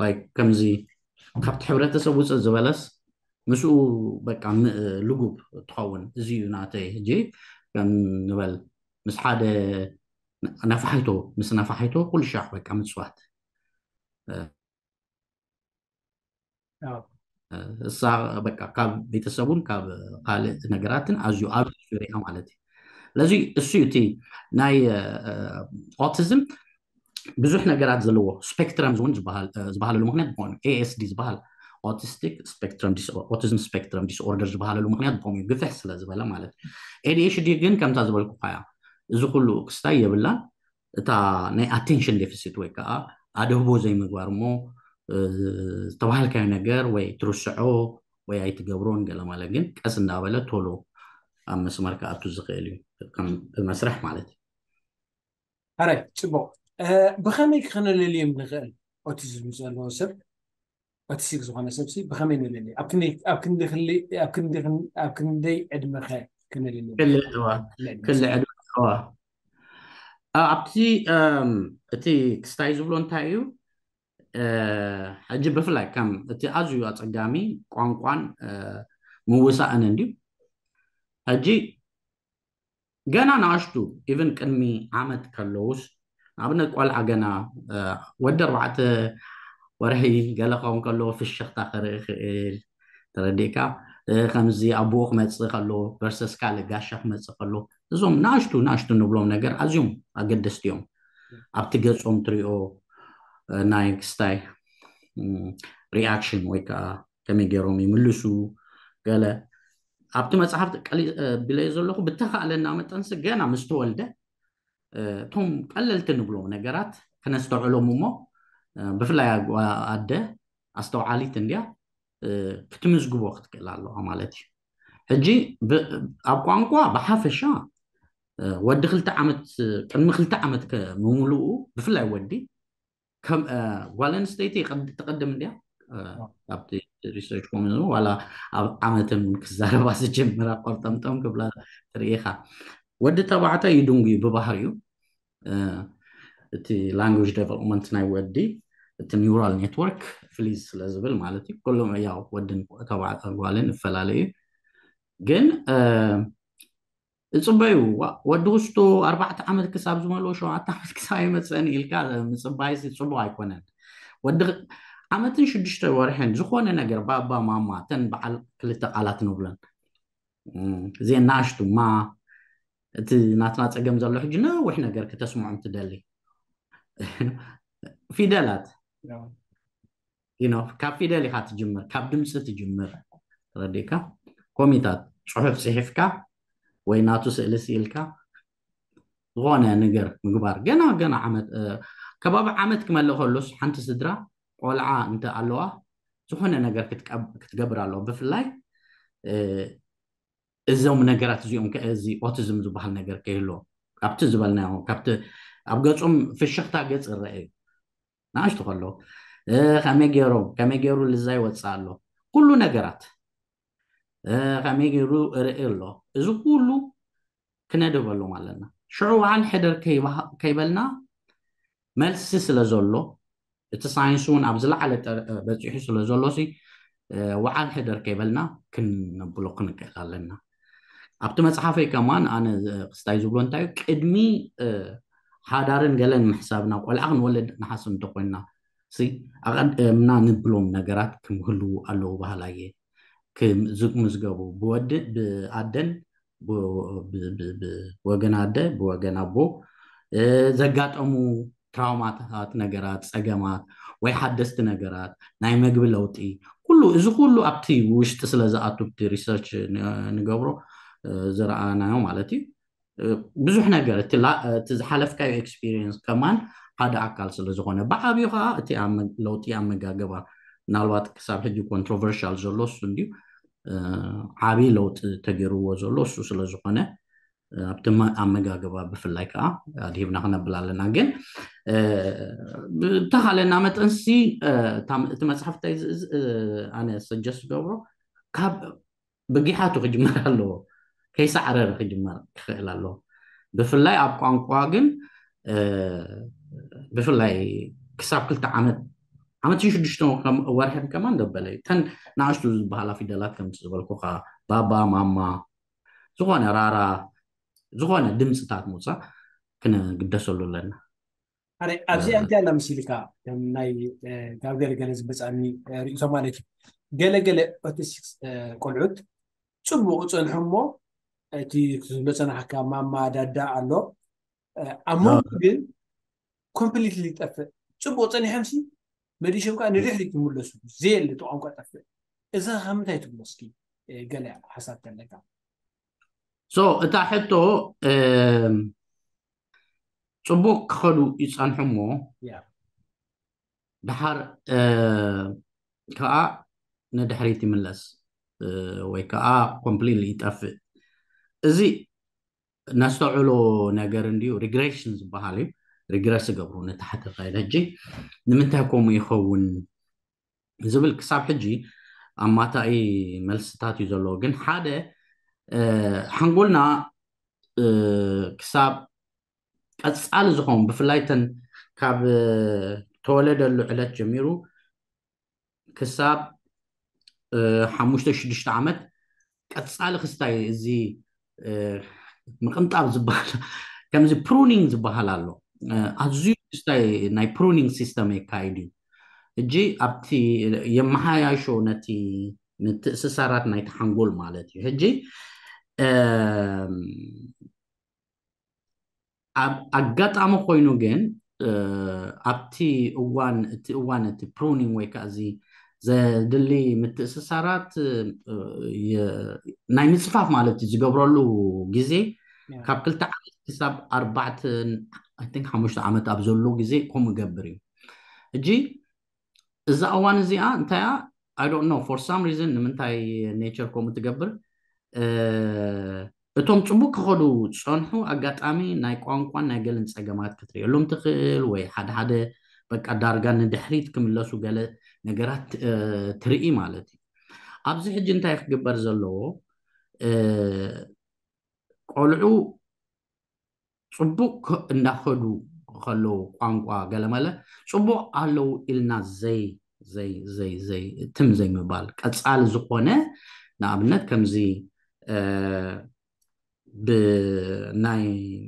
like ከምዚ ካብቲ ሕብረተሰብ ውፅእ ዝበለስ ምስኡ በቃ ልጉብ ትኸውን እዚ እዩ ናተይ ሕጂ ከም ንበል ምስ ሓደ ነፋሒቶ ምስ ነፋሒቶ ኩሉ ሻዕ በቃ ምፅዋት እሳ በቃ ካብ ቤተሰቡን ካብ ካልእ ነገራትን ኣዝዩ ኣብ ሪኣ ማለት እዩ። ስለዚ እሱ እቲ ናይ ኦቲዝም ብዙሕ ነገራት ዘለዎ ስፔክትረም እውን ዝበሃለሉ ምክንያት ዝኾኑ ኤኤስዲ ዝበሃል autistic spectrum autism spectrum disorder ዝበሃለሉ ምክንያት ዝኾኑ እዩ ግፍሕ ስለ ዝበለ ማለት ኤዲኤችዲ ግን ከምታ ዝበልኩ ካያ እዚ ኩሉ ክስታይ የብላን እታ ናይ attention deficit ወይ ከዓ ኣደህቦ ዘይምግባር እሞ ዝተባሃልካዮ ነገር ወይ ትርስዖ ወይ ኣይትገብሮን ገለ ማለት ግን ቀስ እንዳበለ ቶሎ ኣብ መስመር ክኣቱ ዝኽእል እዩ ከም መስርሕ ማለት እዩ። ሕራይ ጽቡቕ። ብኸመይ ክነለልዮም ንኽእል? ኦቲዝም ዘለዎ ሰብ ኦቲስቲክ ዝኾነ ሰብሲ ብኸመይ ነለልዮ? ኣብ ክንደይ ዕድመኸ ክነለልዮ? ክልእ ዕድመ ኣብቲ እቲ ክስታይ ዝብሎ እንታይ እዩ? ሕጂ ብፍላይ ከም እቲ ኣዝዩ ኣጸጋሚ ቋንቋን ምውሳእን እንድዩ። ሕጂ ገና ንኣሽቱ ኢቭን ቅድሚ ዓመት ከለውስ ንኣብነት ቆልዓ ገና ወዲ ኣርባዕተ ወርሒ ገለ ክኸውን ከለዎ ፍሽኽታ ክርኢ ክእል ተረዲእካ ከምዚ ኣቦኡ ክመፅእ ከሎ ቨርሰስ ካልእ ጋሻ ክመፅእ ከሎ እዞም ንኣሽቱ ንኣሽቱ ንብሎም ነገር ኣዝዮም ኣገደስቲ እዮም ኣብቲ ገፆም ትሪኦ ናይ ክስታይ ሪኣክሽን ወይ ከዓ ከመይ ገይሮም ይምልሱ ገለ ኣብቲ መፅሓፍ ቢለዮ ዘለኹ ብተኻእለና መጠንሲ ገና ምስ ተወልደ እቶም ቀለልቲ ንብሎም ነገራት ከነስተውዕሎም እሞ ብፍላይ ኣደ ኣስተውዓሊት እንድያ ክትምዝግቦ ክትክእል ኣለዋ ማለት እዩ። ሕጂ ኣብ ቋንቋ ብሓፈሻ ወዲ ክልተ ዓመት ቅድሚ ክልተ ዓመት ምምልኡ ብፍላይ ወዲ ጓል ኣንስተይቲ ትቐድም እንድያ ኣብቲ ሪሰርች ኮሚሽን ዋላ ኣብ ዓመትን ክዛረባ ዝጀምራ ቆርጠምጠም ክብላ ትርኢኻ። ወዲ ተባዕታይ ይድንጉ እዩ ብባህሪኡ። እቲ language development ናይ ወዲ እቲ neural network ፍሊዝ ስለ ዝብል ማለት እዩ። ኩሎም ያው ወድን ጓልን ይፈላለዩ ግን እፅበዩ ወዲ ውስጡ ኣርባዕተ ዓመት ክሳብ ዝመልኦ ሸውዓተ ዓመት ክሳብ ይመፀኒ ኢልካ ምፅባይ ፅቡቅ ኣይኮነን። ወዲ ዓመትን ሽዱሽተ ወርሕን ዝኾነ ነገር ባባ ማማ ተን በዓል ክልተ ቃላት ንብለን እዚአን ናእሽቱ ማ እቲ ናትና ፀገም ዘሎ ሕጂ ነዊሕ ነገር ክተስምዖም ትደሊ ፊደላት ካብ ፊደል ኢካ ትጅምር ካብ ድምፂ ትጅምር ረዲካ ኮሚታት ፅሑፍ ፅሒፍካ ወይ ናቱ ስእሊ ስኢልካ ዝኾነ ነገር ምግባር ገና ገና ዓመት ከባቢ ዓመት ክመልእ ከሎስ ሓንቲ ስድራ ቆልዓ እንተ ኣለዋ ዝኾነ ነገር ክትገብር ኣለዋ ብፍላይ እዞም ነገራት እዚኦም እዚ ኦቲዝም ዝበሃል ነገር ከይህሎ ካብቲ ዝበልናዮ ካብቲ ኣብ ገፆም ፍሽኽታ ገፅ ይረአ እዩ ንኣሽቱ ከሎ ከመይ ገይሮም ከመይ ገይሩ ልዛ ይወፅእ ኣሎ ኩሉ ነገራት ከመይ ገይሩ ርኢ ኣሎ እዚ ኩሉ ክነድበሎም ኣለና ሽዑ በዓል ሕደር ከይበልና መልሲ ስለ ዘሎ እቲ ሳይንስ እውን ኣብ ዝለዓለ በፂሑ ስለ ዘሎ ወዓል ሕደር ከይበልና ክነብሎ ክንክእል ኣለና ኣብቲ መፅሓፈይ ከማን ኣነ ክስታይ ዝብሎ እንታይ ቅድሚ ሓዳርን ገለን ምሕሳብ ናብ ቆልዓ ክንወለድ ንሓስብ እንተኮይንና ኣቀድምና ንብሎም ነገራት ክምህልዉ ኣለዉ ባህላየ ክምዝገቡ ብወዲ ብኣደን ብወገን ኣደ ብወገን ኣቦ ዘጋጠሙ ትራውማታት ነገራት ፀገማት ወይ ሓደስቲ ነገራት ናይ መግቢ ለውጢ ኩሉ እዚ ኩሉ ኣብቲ ውሽጢ ስለ ዝኣቱ ብቲ ሪሰርች ንገብሮ ዝረኣናዮ ማለት እዩ ብዙሕ ነገር እቲ ዝሓለፍካዮ ኤክስፒሪየንስ ከማን ሓደ ኣካል ስለ ዝኾነ ብዓብዩ ከዓ እቲ ለውጢ ኣመጋገባ ምናልባት ክሳብ ሕጂ ኮንትሮቨርሻል ዘሎ እሱ እንድዩ ዓብዪ ለውጢ ተገይርዎ ዘሎ እሱ ስለ ዝኾነ ኣብቲ ኣመጋገባ ብፍላይ ከዓ ኣድሂብና ክነብል ኣለና ግን ብተኻለና መጠንሲ እቲ መፅሓፍ እንታይ ኣነ ሰጀስት ገብሮ ካብ ብጊሓቱ ክጅመር ኣለዎ ከይሳዕረረ ክጅመር ክኽእል ኣለዎ ብፍላይ ኣብ ቋንቋ ግን ብፍላይ ክሳብ ክልተ ዓመት ዓመትን ሽዱሽተ ወርሕን ከማን ደበለ እዩ ተን ንኣሽቱ ዝበሃላ ፊደላት ከምቲ ዝበልኩካ ባባ ማማ ዝኾነ ራራ ዝኾነ ድምፅታት ምውፃእ ክንግደሰሉ ኣለና ኣረ ኣብዚኣ እንታይ ኣላ መሲልካ ከም ናይ ካብ ገለገለ ዝበፅኣኒ ርእቶ ማለት እዩ ገለገለ ኦቲስቲክስ ቆልዑት ፅቡቅ ፀንሑ እሞ እቲ ክትብሎ ፀናሕካ ማማ ዳዳ ኣሎ ኣብ መንጎ ግን ኮምፕሊትሊ ይጠፍእ ፅቡቅ ፀኒሖም ሲ መሊሶም ከዓ ንድሕሪት ይምለሱ ዘየለ እቲ ቋንቋ ጠፍእ እዛ ከምንታይ ትብሎ እስኪ ገለ ሓሳብ ተለካ so እታ ሕቶ ፅቡቅ ክኸዱ ይፀንሑ እሞ ደሓር ከዓ ንድሕሪት ይምለስ ወይ ከዓ ኮምፕሊትሊ ይጠፍእ እዚ ነስተውዕሎ ነገር እንድዩ ሪግሬሽን ዝበሃል እዩ ሪግረስ ይገብሩ ነቲ ሓተታይ ሕጂ ንምንታይ ከምኡ ይኸውን ዝብል ክሳብ ሕጂ ኣማታኢ መልስታት እዩ ዘለዎ ግን ሓደ ሓንጎልና ክሳብ ቀፃሊ ዝኸውን ብፍላይ ተን ካብ ተወለደሉ ዕለት ጀሚሩ ክሳብ ሓሙሽተ ሽዱሽተ ዓመት ቀፃሊ ክስታይ እዚ ምቅንጣብ ዝበሃል ከምዚ ፕሩኒንግ ዝበሃል ኣሎ ኣዝዩ ክስታይ ናይ ፕሩኒንግ ሲስተም የካይድ እዩ እጂ ኣብቲ የመሓያሾ ነቲ ምትእስሳራት ናይቲ ሓንጎል ማለት እዩ ሕጂ ኣብ ኣጋጣሚ ኮይኑ ግን ኣብቲ እዋን እቲ እዋን እቲ ፕሩኒንግ ወይ ከዓ እዚ ዘድሊ ምትእስሳራት ናይ ምፅፋፍ ማለት እዩ ዝገብረሉ ግዜ ካብ ክልተ ዓመት ክሳብ ኣርባዕተ፣ I think ሓሙሽተ ዓመት ኣብ ዘሎ ግዜ ከምኡ ይገብር እዩ። ሕጂ እዛ እዋን እዚኣ እንታይ እያ? I don't know, for some reason ንምንታይ ኔቸር ከምኡ ትገብር? እቶም ፅቡቅ ክኸዱ ዝፀንሑ ኣጋጣሚ ናይ ቋንቋን ናይ ገልን ፀገማት ክትርእየሎም ትኽእል፣ ወይ ሓደ ሓደ በቃ ዳርጋ ንድሕሪት ክምለሱ ገለ ነገራት ትርኢ ማለት እዩ። ኣብዚ ሕጂ እንታይ ክግበር ዘለዎ? ቆልዑ ፅቡቅ እንዳኸዱ ከለዉ ቋንቋ ገለመለ ፅቡቅ ኣለዉ ኢልና ዘይ ዘይ ዘይ ዘይ ትም ዘይምባል፣ ቀፃሊ ዝኾነ ንኣብነት ከምዚ ብናይ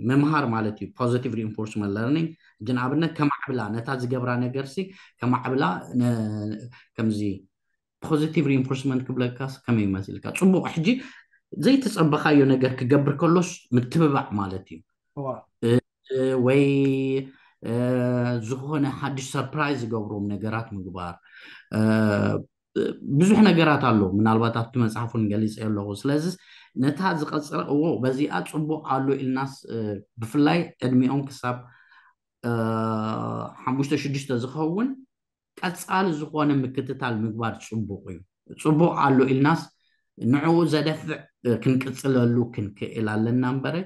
ምምሃር ማለት እዩ፣ positive reinforcement learning። ሕጂ ንኣብነት ከማዕብላ፣ ነታ ዝገብራ ነገርሲ ከማዕብላ፣ ከምዚ positive reinforcement ክብለካስ ከመይ መሲልካ? ፅቡቅ። ሕጂ ዘይተፀበኻዮ ነገር ክገብር ከሎስ ምትብባዕ ማለት እዩ። ወይ ዝኾነ ሓድሽ ሰርፕራይዝ ዝገብሮም ነገራት ምግባር። ብዙሕ ነገራት ኣሎ፣ ምናልባት ኣብቲ መፅሓፍ እውን ገሊፀ ኣለኹ። ስለዚ ነታ ዝቐፅረ እዎ በዚኣ ፅቡቅ ኣሎ ኢልናስ፣ ብፍላይ ዕድሚኦም ክሳብ ሓሙሽተ ሽዱሽተ ዝኸውን ቀፃሊ ዝኾነ ምክትታል ምግባር ፅቡቅ እዩ። ፅቡቅ ኣሎ ኢልናስ ንዕኡ ዘደፍዕ ክንቅፅለሉ ክንክእል ኣለና እምበረ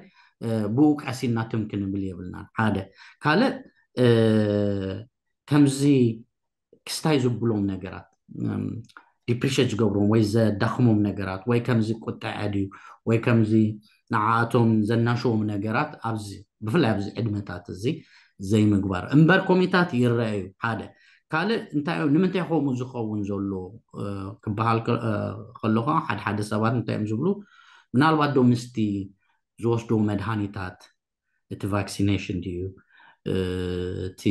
ብኡ ቀሲና ትም ክንብል የብልናን። ሓደ ካልእ ከምዚ ክስታይ ዝብሎም ነገራት፣ ዲፕሪሽት ዝገብሮም ወይ ዘዳኽሞም ነገራት ወይ ከምዚ ቁጥዐ ድዩ ወይ ከምዚ ንዓኣቶም ዘናሸዎም ነገራት ኣብዚ ብፍላይ ኣብዚ ዕድመታት እዚ ዘይምግባር እምበር ኮሚታት ይረኣዩ። ሓደ ካልእ እንታይ እዮም፣ ንምንታይ ከምኡ ዝኸውን ዘሎ ክበሃል ከሎ ከዓ ሓደ ሓደ ሰባት እንታይ እዮም ዝብሉ፣ ምናልባት ዶ ምስቲ ዝወስዶ መድሃኒታት እቲ ቫክሲኔሽን ድዩ እቲ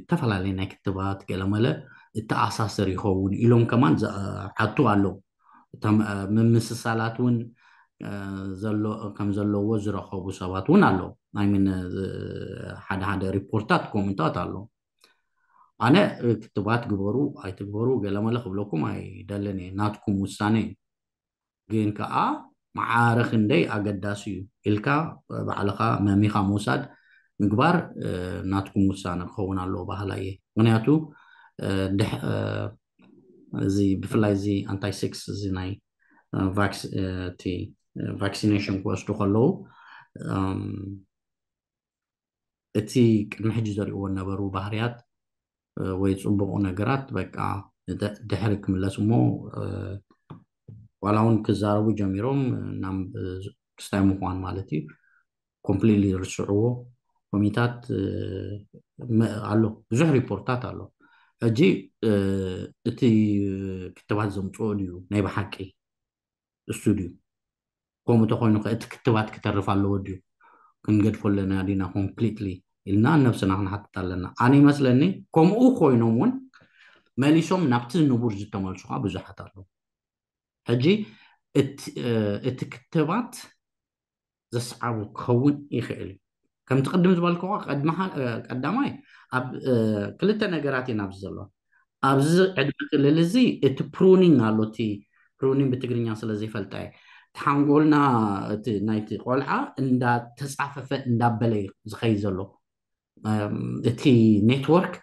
ዝተፈላለየ ናይ ክትባት ገለመለ እተኣሳሰር ይኸውን ኢሎም ከማን ዝሓቱ ኣለዉ። ምምስሳላት እውን ከም ዘለዎ ዝረኸቡ ሰባት እውን ኣለዉ። ኣይምን ሓደ ሓደ ሪፖርታት ኮመንታት ኣለዉ። ኣነ ክትባት ግበሩ ኣይትግበሩ ገለመለ ክብለኩም ኣይደልን እየ፣ ናትኩም ውሳነ እዩ። ግን ከዓ ማዕረ ክንደይ ኣገዳሲ እዩ ኢልካ ባዕልኻ መሚኻ ምውሳድ ምግባር ናትኩም ውሳነ ክኸውን ኣለዎ በሃላይ እየ። ምክንያቱ እዚ ብፍላይ እዚ ኣንታይ ሴክስ እዚ ናይ ቫክሲኔሽን ክወስዱ ከለዉ እቲ ቅድሚ ሕጂ ዘርእዎ ነበሩ ባህርያት ወይ ፅቡቁ ነገራት በቃ ድሕሪ ክምለስ እሞ ዋላ እውን ክዛረቡ ጀሚሮም ክስታይ ምኳን ማለት እዩ። ኮምፕሊትሊ ርስዕዎ ኮሚታት ኣሎ፣ ብዙሕ ሪፖርታት ኣሎ። ሕጂ እቲ ክትባት ዘምፅኦ ድዩ ናይ ብሓቂ እሱ ድዩ? ከምኡ ተኮይኑ ከ እቲ ክትባት ክተርፍ ኣለዎ ድዩ? ክንገድፎ ኣለና ዲና ኮምፕሊትሊ ኢልና ነብስና ክንሓትት ኣለና። ኣነ ይመስለኒ ከምኡ ኮይኖም እውን መሊሶም ናብቲ ንቡር ዝተመልሱ ከዓ ብዙሓት ኣለዉ። ሕጂ እቲ ክትባት ዘስዓቡ ክኸውን ይኽእል እዩ። ከምቲ ቅድም ዝበልክዎ ቀዳማይ ኣብ ክልተ ነገራት እየን ኣብዚ ዘለዋ። ኣብዚ ዕድመ ክልል እዚ እቲ ፕሩኒንግ ኣሎ፣ እቲ ፕሩኒንግ ብትግርኛ ስለ ዘይፈልጣ እየ፣ እቲ ሓንጎልና እቲ ናይቲ ቆልዓ እንዳተፃፈፈ እንዳበለ እዩ ዝኸይድ ዘሎ። እቲ ኔትወርክ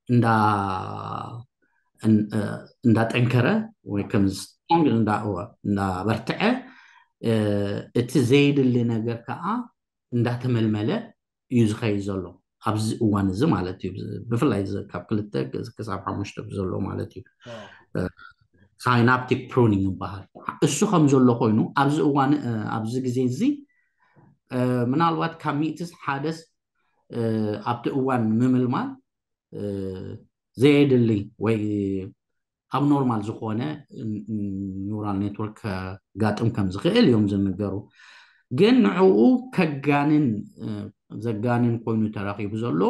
እንዳ እንዳጠንከረ ወይ ከም ስትሮንግ እንዳበርትዐ፣ እቲ ዘይድሊ ነገር ከዓ እንዳተመልመለ እዩ ዝኸይድ ዘሎ ኣብዚ እዋን እዚ ማለት እዩ። ብፍላይ ካብ ክልተ ክሳብ ሓሙሽተ ዘሎ ማለት እዩ። ሳይናፕቲክ ፕሩኒንግ ይበሃል። እሱ ከም ዘሎ ኮይኑ ኣብዚ እዋን ኣብዚ ግዜ እዚ ምናልባት ካብ ሚእትስ ሓደስ ኣብቲ እዋን ምምልማል ዘየድሊ ወይ ኣብ ኖርማል ዝኾነ ኒውራል ኔትወርክ ከጋጥም ከም ዝኽእል እዮም ዝንገሩ። ግን ንዕኡ ከጋንን ዘጋንን ኮይኑ ተረኺቡ ዘሎ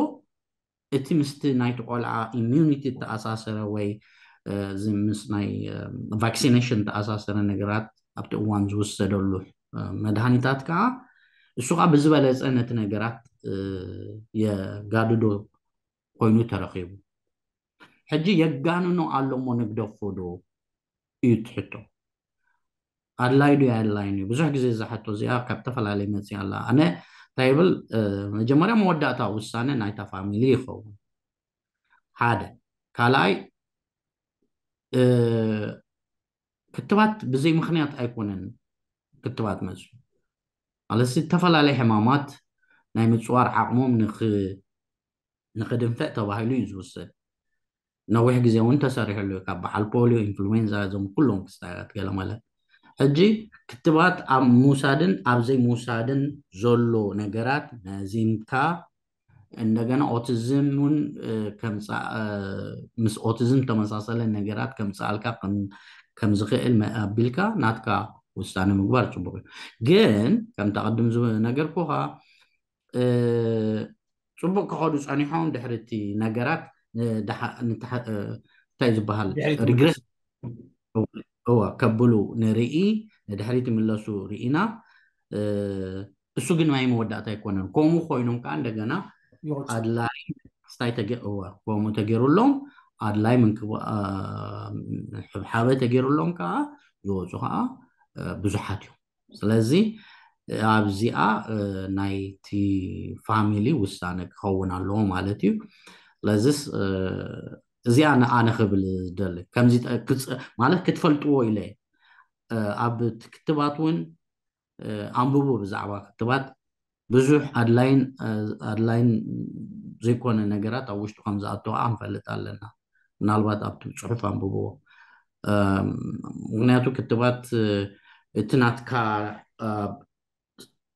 እቲ ምስቲ ናይቲ ቆልዓ ኢሚዩኒቲ ተኣሳሰረ ወይ እዚ ምስ ናይ ቫክሲኔሽን ተኣሳሰረ ነገራት ኣብቲ እዋን ዝውሰደሉ መድሃኒታት ከዓ እሱ ከዓ ብዝበለፀ ነቲ ነገራት የጋድዶ ኮይኑ ተረኺቡ። ሕጂ የጋንኖ ኣሎ እሞ ንግደፎ ዶ እዩ እቲ ሕቶ። ኣድላይ ዶ ኣድላይን እዩ? ብዙሕ ግዜ እዛ ሕቶ እዚኣ ካብ ዝተፈላለየ መፅእ ኣላ። ኣነ እንታይ ይብል፣ መጀመርያ መወዳእታ ውሳነ ናይታ ፋሚሊ ይኸውን ሓደ። ካልኣይ ክትባት ብዘይ ምክንያት ኣይኮነን ክትባት መፅኡ። ማለት ዝተፈላለየ ሕማማት ናይ ምፅዋር ዓቕሞም ንክድንፍዕ ተባሂሉ እዩ ዝውሰድ። ነዊሕ ግዜ እውን ተሰሪሕሉ እዩ፣ ካብ በዓል ፖሊዮ፣ ኢንፍሉዌንዛ፣ እዞም ኩሎም ክስታያት ገለ ማለት። ሕጂ ክትባት ኣብ ምውሳድን ኣብ ዘይምውሳድን ዘሎ ነገራት መዚንካ እንደገና ኦቲዝም እውን ምስ ኦቲዝም ተመሳሰለ ነገራት ከምፅኣልካ ከም ዝኽእል ኣቢልካ ናትካ ውሳነ ምግባር ፅቡቅ እዩ። ግን ከምታ ቅድም ዝነገርኩካ ፅቡቅ ክኸዱ ፀኒሖም ድሕሪ እቲ ነገራት እንታይ ዝበሃል ሪግረስ እዋ ከብሉ ንርኢ፣ ንድሕሪት ይምለሱ ርኢና። እሱ ግን ናይ መወዳእታ ኣይኮነን። ከምኡ ኮይኖም ከዓ እንደገና ኣድላይ ክስታይ ከምኡ ተገይሩሎም፣ ኣድላይ ምንክብሓበ ተገይሩሎም ከዓ ዝወፁ ከዓ ብዙሓት እዮም። ስለዚ ኣብዚኣ ናይቲ ፋሚሊ ውሳነ ክኸውን ኣለዎ ማለት እዩ። ስለዚስ እዚኣ ንኣነ ክብል ዝደሊ ከምዚ ማለት ክትፈልጥዎ ኢለ ኣብ ክትባት እውን ኣንብቡ። ብዛዕባ ክትባት ብዙሕ ኣድላይን ኣድላይን ዘይኮነ ነገራት ኣብ ውሽጡ ከም ዝኣተዋ ክንፈልጥ ኣለና። ምናልባት ኣብቲ ፅሑፍ ኣንብብዎ። ምክንያቱ ክትባት እቲ ናትካ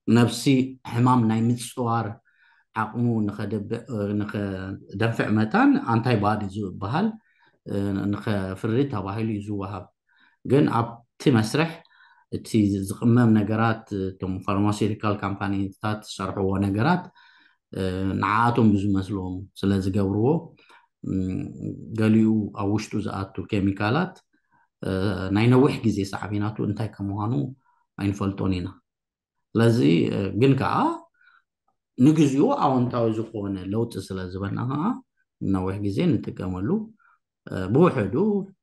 ነብሲ ሕማም ናይ ምፅዋር ዓቕሙ ንኸደንፍዕ መታን ኣንታይ ባዲ ዝበሃል ንኸፍሪ ተባሂሉ እዩ ዝወሃብ። ግን ኣብቲ መስርሕ እቲ ዝቕመም ነገራት እቶም ፋርማሲውቲካል ካምፓኒታት ዝሰርሕዎ ነገራት ንዓኣቶም ብዝመስሎም ስለ ዝገብርዎ ገሊኡ ኣብ ውሽጡ ዝኣቱ ኬሚካላት ናይ ነዊሕ ግዜ ሳዕቤናቱ እንታይ ከም ምዃኑ ኣይንፈልጦን ኢና። ስለዚ ግን ከዓ ንግዚኡ ኣወንታዊ ዝኾነ ለውጢ ስለ ዝበና ከዓ ነዊሕ ግዜ ንጥቀመሉ። ብውሕዱ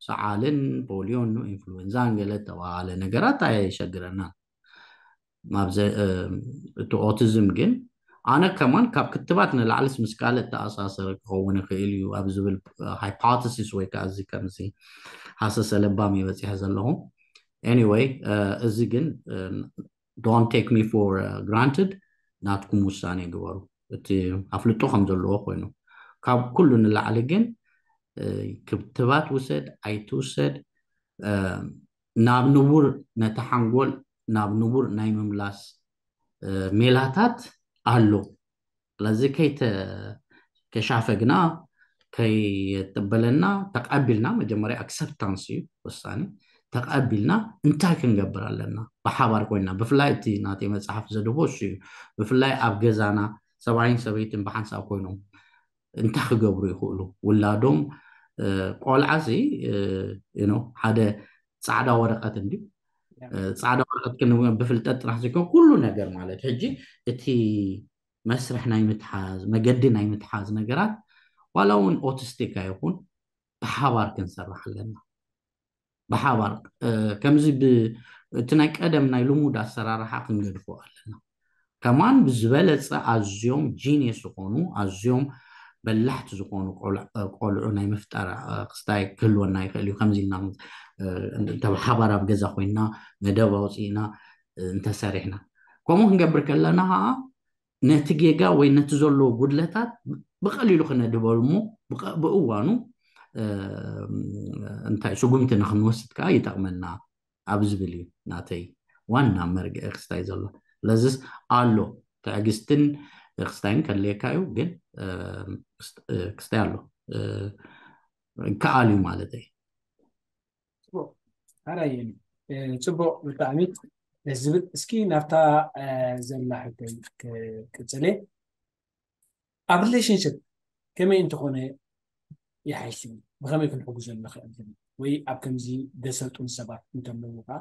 ሰዓልን ፖሊዮን ኢንፍሉዌንዛን ገለ ተባሃለ ነገራት ኣየሸግረናን። እቲ ኦቲዝም ግን ኣነ ከማን ካብ ክትባት ንላዕልስ ምስ ካልእ ተኣሳሰረ ክኸውን ይኽእል እዩ ኣብ ዝብል ሃይፖተሲስ ወይ ከዓ እዚ ከምዚ ሃሰሰ ለባም እየ በፂሐ ዘለኹ። Anyway እዚ ግን don't take me for granted፣ ናትኩም ውሳኔ ግበሩ። እቲ ኣፍልጦ ከም ዘለዎ ኮይኑ ካብ ኩሉ ንላዕሊ ግን ክትባት ውሰድ ኣይትውሰድ ናብ ንቡር ነቲ ሓንጎል ናብ ንቡር ናይ ምምላስ ሜላታት ኣሎ። ስለዚ ከይተሻፈግና ከየጠበለና ተቐቢልና መጀመርያ ኣክሰፕታንስ እዩ ወሳኒ። ተቐቢልና እንታይ ክንገብር ኣለና ብሓባር ኮይና ብፍላይ እቲ ናተይ መፅሓፍ ዘድቦ እሱ እዩ። ብፍላይ ኣብ ገዛና ሰብኣይን ሰበይትን ብሓንሳብ ኮይኖም እንታይ ክገብሩ ይኽእሉ ውላዶም ቆልዓ ሲ ሓደ ፃዕዳ ወረቀት እንዲ ፃዕዳ ወረቀት ብፍልጠት ጥራሕ ዘይኮን ኩሉ ነገር ማለት ሕጂ እቲ መስርሕ ናይ ምትሓዝ መገዲ ናይ ምትሓዝ ነገራት ዋላ እውን ኦቲስቲክ ኣይኹን ብሓባር ክንሰርሕ ኣለና። ብሓባር ከምዚ እቲ ናይ ቀደም ናይ ልሙድ ኣሰራርሓ ክንገድፎ ኣለና። ከማን ብዝበለፀ ኣዝዮም ጂኒየስ ዝኾኑ ኣዝዮም በላሕቲ ዝኾኑ ቆልዑ ናይ ምፍጣር ክስታይ ክህልወና ይኽእል እዩ። ከምዚ ኢልና እንተ ብሓባር ኣብ ገዛ ኮይና መደብ ኣውፅእና እንተሰሪሕና ከምኡ ክንገብር ከለና ከዓ ነቲ ጌጋ ወይ ነቲ ዘለዎ ጉድለታት ብቐሊሉ ክነድበሉ እሞ ብእዋኑ እንታይ ስጉምቲ ንክንወስድ ከዓ ይጠቕመና ኣብ ዝብል እዩ ናተይ ዋና መርግዒ ክስታይ ዘሎ። ስለዚስ ኣሎ ትዕግስትን ክስታይን ከድልየካ እዩ፣ ግን ክስታይ ኣሎ ይከኣል እዩ ማለት እዩ። ሓራይ ፅቡቅ ብጣዕሚ ደስ ዝብል። እስኪ ናብታ ዘላ ሕቶይ ክቅፅል እየ። ኣብ ሪሌሽንሽፕ ከመይ እንተኾነ ይሓይሽ እዩ? ብኸመይ ክንሕግዞም ንኽእል? ወይ ኣብ ከምዚ ደሰልጡን ሰባት እንተለዉ ከዓ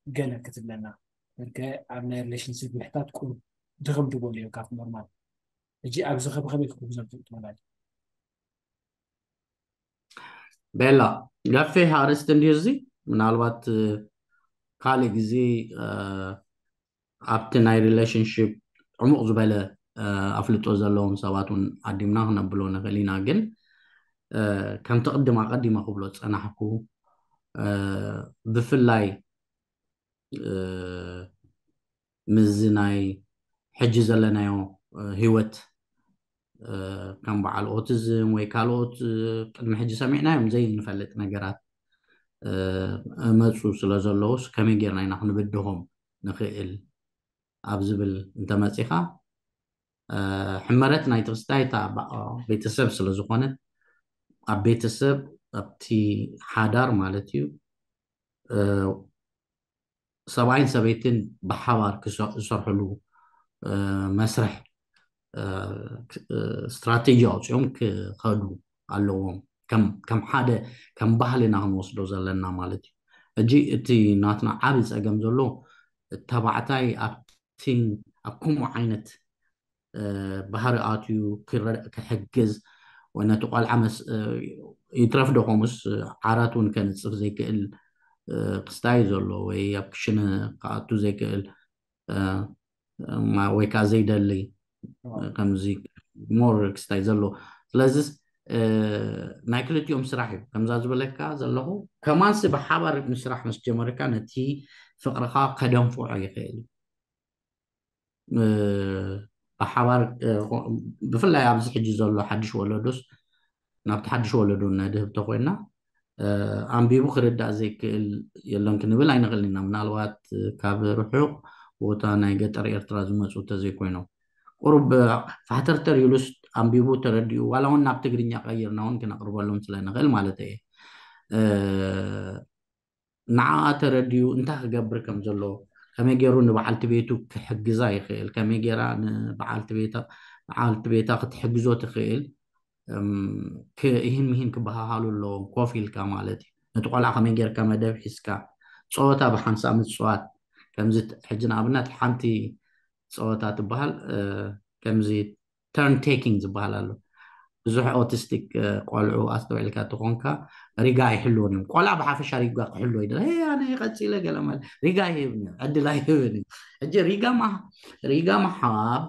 ገለ ክትብለና። በርከ ኣብ ናይ ሪሌሽንሽፕ ምሕታት ቁሩብ ድኽም ትበሉ እዮም ካብቲ ኖርማል። ሕጂ ኣብዚ ኸ ብኸመይ ክሕግዞም ትኽእል ትበላ? ቤላ፣ ገፊሕ ኣርእስቲ እንድዩ እዚ። ምናልባት ካልእ ግዜ ኣብቲ ናይ relationship ዕሙቕ ዝበለ ኣፍልጦ ዘለዎም ሰባት እውን ዓዲምና ክነብሎ ንኽእል ኢና። ግን ከምቲ ቅድም ኣቐዲመ ክብሎ ዝጸናሕኩ፣ ብፍላይ ምስዚ ናይ ሕጂ ዘለናዮ ህይወት፣ ከም በዓል ኦቲዝም ወይ ካልኦት ቅድሚ ሕጂ ሰሚዕናዮም ዘይንፈልጥ ነገራት መፁ ስለ ዘለውስ ከመይ ጌርና ኢና ክንብድሆም ንኽእል ኣብ ዝብል እንተመፂኻ፣ ሕመረት ናይ ትኽስታይ እታ ቤተሰብ ስለ ዝኾነት፣ ኣብ ቤተሰብ፣ ኣብቲ ሓዳር ማለት እዩ፣ ሰብኣይን ሰበይትን ብሓባር ዝሰርሕሉ መስርሕ ስትራቴጂ ኣውፅኦም ክኸዱ ኣለዎም። ከም ሓደ ከም ባህልና ክንወስዶ ዘለና ማለት እዩ። ሕጂ እቲ ናትና ዓብዪ ፀገም ዘሎ፣ ተባዕታይ ኣብቲ ኣብ ከምኡ ዓይነት ባህሪ ኣትዩ ክሕግዝ ወይ ነቲ ቆልዓ ይትረፍ ዶ ከምኡስ ዓራት እውን ከንፅፍ ዘይክእል ክስታይ ዘሎ ወይ ኣብ ክሽነ ክኣቱ ዘይክእል ወይ ከዓ ዘይደሊ ከምዚ more ክስታይ ዘሎ። ስለዚ ናይ ክልቲኦም ስራሕ እዩ። ከምዛ ዝበለካ ዘለኹ ከማንሲ ብሓባር ምስራሕ ምስ ጀመርካ ነቲ ፍቕርኻ ከደንፍዖ ይኽእል እዩ። ብሓባር ብፍላይ ኣብዚ ሕጂ ዘሎ ሓድሽ ወለዶስ ናብቲ ሓድሽ ወለዶ ነድህብ ተኮይና፣ ኣንቢቡ ክርዳእ ዘይክእል የለን ክንብል ኣይንኽእልን ኢና። ምናልባት ካብ ርሑቕ ቦታ ናይ ገጠር ኤርትራ ዝመፁ እንተዘይኮይኖም፣ ቁሩብ ፋሕተርተር ኢሉስ ኣንቢቡ ተረዲኡ ዋላ እውን ናብ ትግርኛ ቀይርና እውን ክነቕርበሎም ስለ ንኽእል ማለት እየ። ንዓኣ ተረዲኡ እንታይ ክገብር ከም ዘለዎ፣ ከመይ ገይሩ ንበዓልቲ ቤቱ ክሕግዛ ይኽእል፣ ከመይ ገይራ ንበዓልቲ ቤታ በዓልቲ ቤታ ክትሕግዞ ትኽእል፣ እም፣ ክ- ይህን ምሂን ክበሃሃሉ ኣለዎም። ኮፍ ኢልካ ማለት እዩ። ነቲ ቆልዓ ከመይ ጌርካ መደብ ሒዝካ ጸወታ ብሓንሳእ ምጽዋት፣ ከምዚ ት- ሕጂ ንኣብነት ሓንቲ ጸወታ ትበሃል፣ እ፣ ከምዚ ተርን ቴኪንግ ዝበሃል ኣሎ። ብዙሕ ኦቲስቲክ ቆልዑ ኣስተውዒልካ ተኾንካ ሪጋ ኣይሕልውን እዮም። ቆልዓ ብሓፈሻ ሪጋ ክሕልዎ ይደል። "ሄ፣ ኣነ ቀፂለ" ገለ ማለት ሪጋ ኣይህብን እዩ፣ ዕድል ኣይህብን እዩ። ሕጂ ሪጋ ማ- ሪጋ ምሃብ፣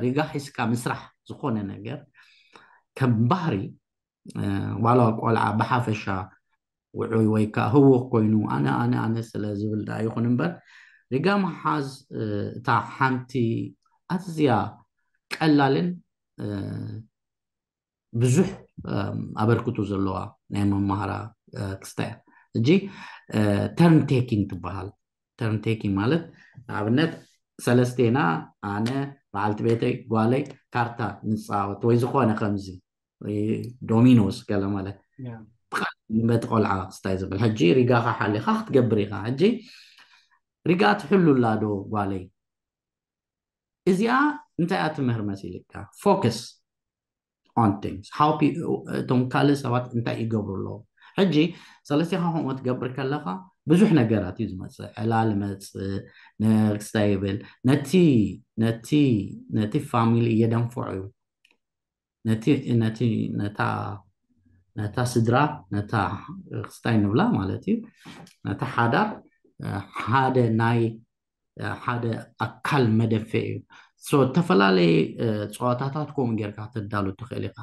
ሪጋ ሒዝካ ምስራሕ ዝኾነ ነገር ከም ባህሪ፣ ዋላ ቆልዓ ብሓፈሻ ውዑይ ወይ ከዓ ህውኽ ኮይኑ ኣነ ኣነ ኣነ ስለ ዝብል ደኣ ይኹን እምበር፣ ሪጋ ምሓዝ እታ ሓንቲ ኣዝያ ቀላልን ብዙሕ ኣበርክቶ ዘለዋ ናይ መማህራ ክስታይ እያ። ሕጂ ተርን ቴኪንግ ትበሃል። ተርን ቴኪንግ ማለት ንኣብነት ሰለስቴና፣ ኣነ፣ በዓልቲ ቤተይ፣ ጓለይ ካርታ ንፃወት ወይ ዝኾነ ከምዚ ዶሚኖስ ገለ ማለት በቲ ቆልዓ ክስታይ ዝብል። ሕጂ ሪጋኻ ሓሊኻ ክትገብር ኢኻ። ሕጂ ሪጋ ትሕሉላ ዶ ጓለይ? እዚኣ እንታይ እያ ትምህር መሲልካ? ፎከስ on things how እቶም ካልእ ሰባት እንታይ ይገብሩ ኣለዉ። ሕጂ ሰለስቲኻ ከምኡ ትገብር ከለኻ ብዙሕ ነገራት እዩ ዝመፅእ። ዕላል መፅእ፣ ነርክስታ ይብል፣ ነቲ ነቲ ነቲ ፋሚሊ የደንፍዖ እዩ። ነቲ ነቲ ነታ ነታ ስድራ፣ ነታ ክስታይ ንብላ ማለት እዩ፣ ነታ ሓዳር ሓደ ናይ ሓደ ኣካል መደፈ እዩ። ዝተፈላለየ ፀዋታታት ከምኡ ጌርካ ተዳሉ ትኽእል ኢኻ።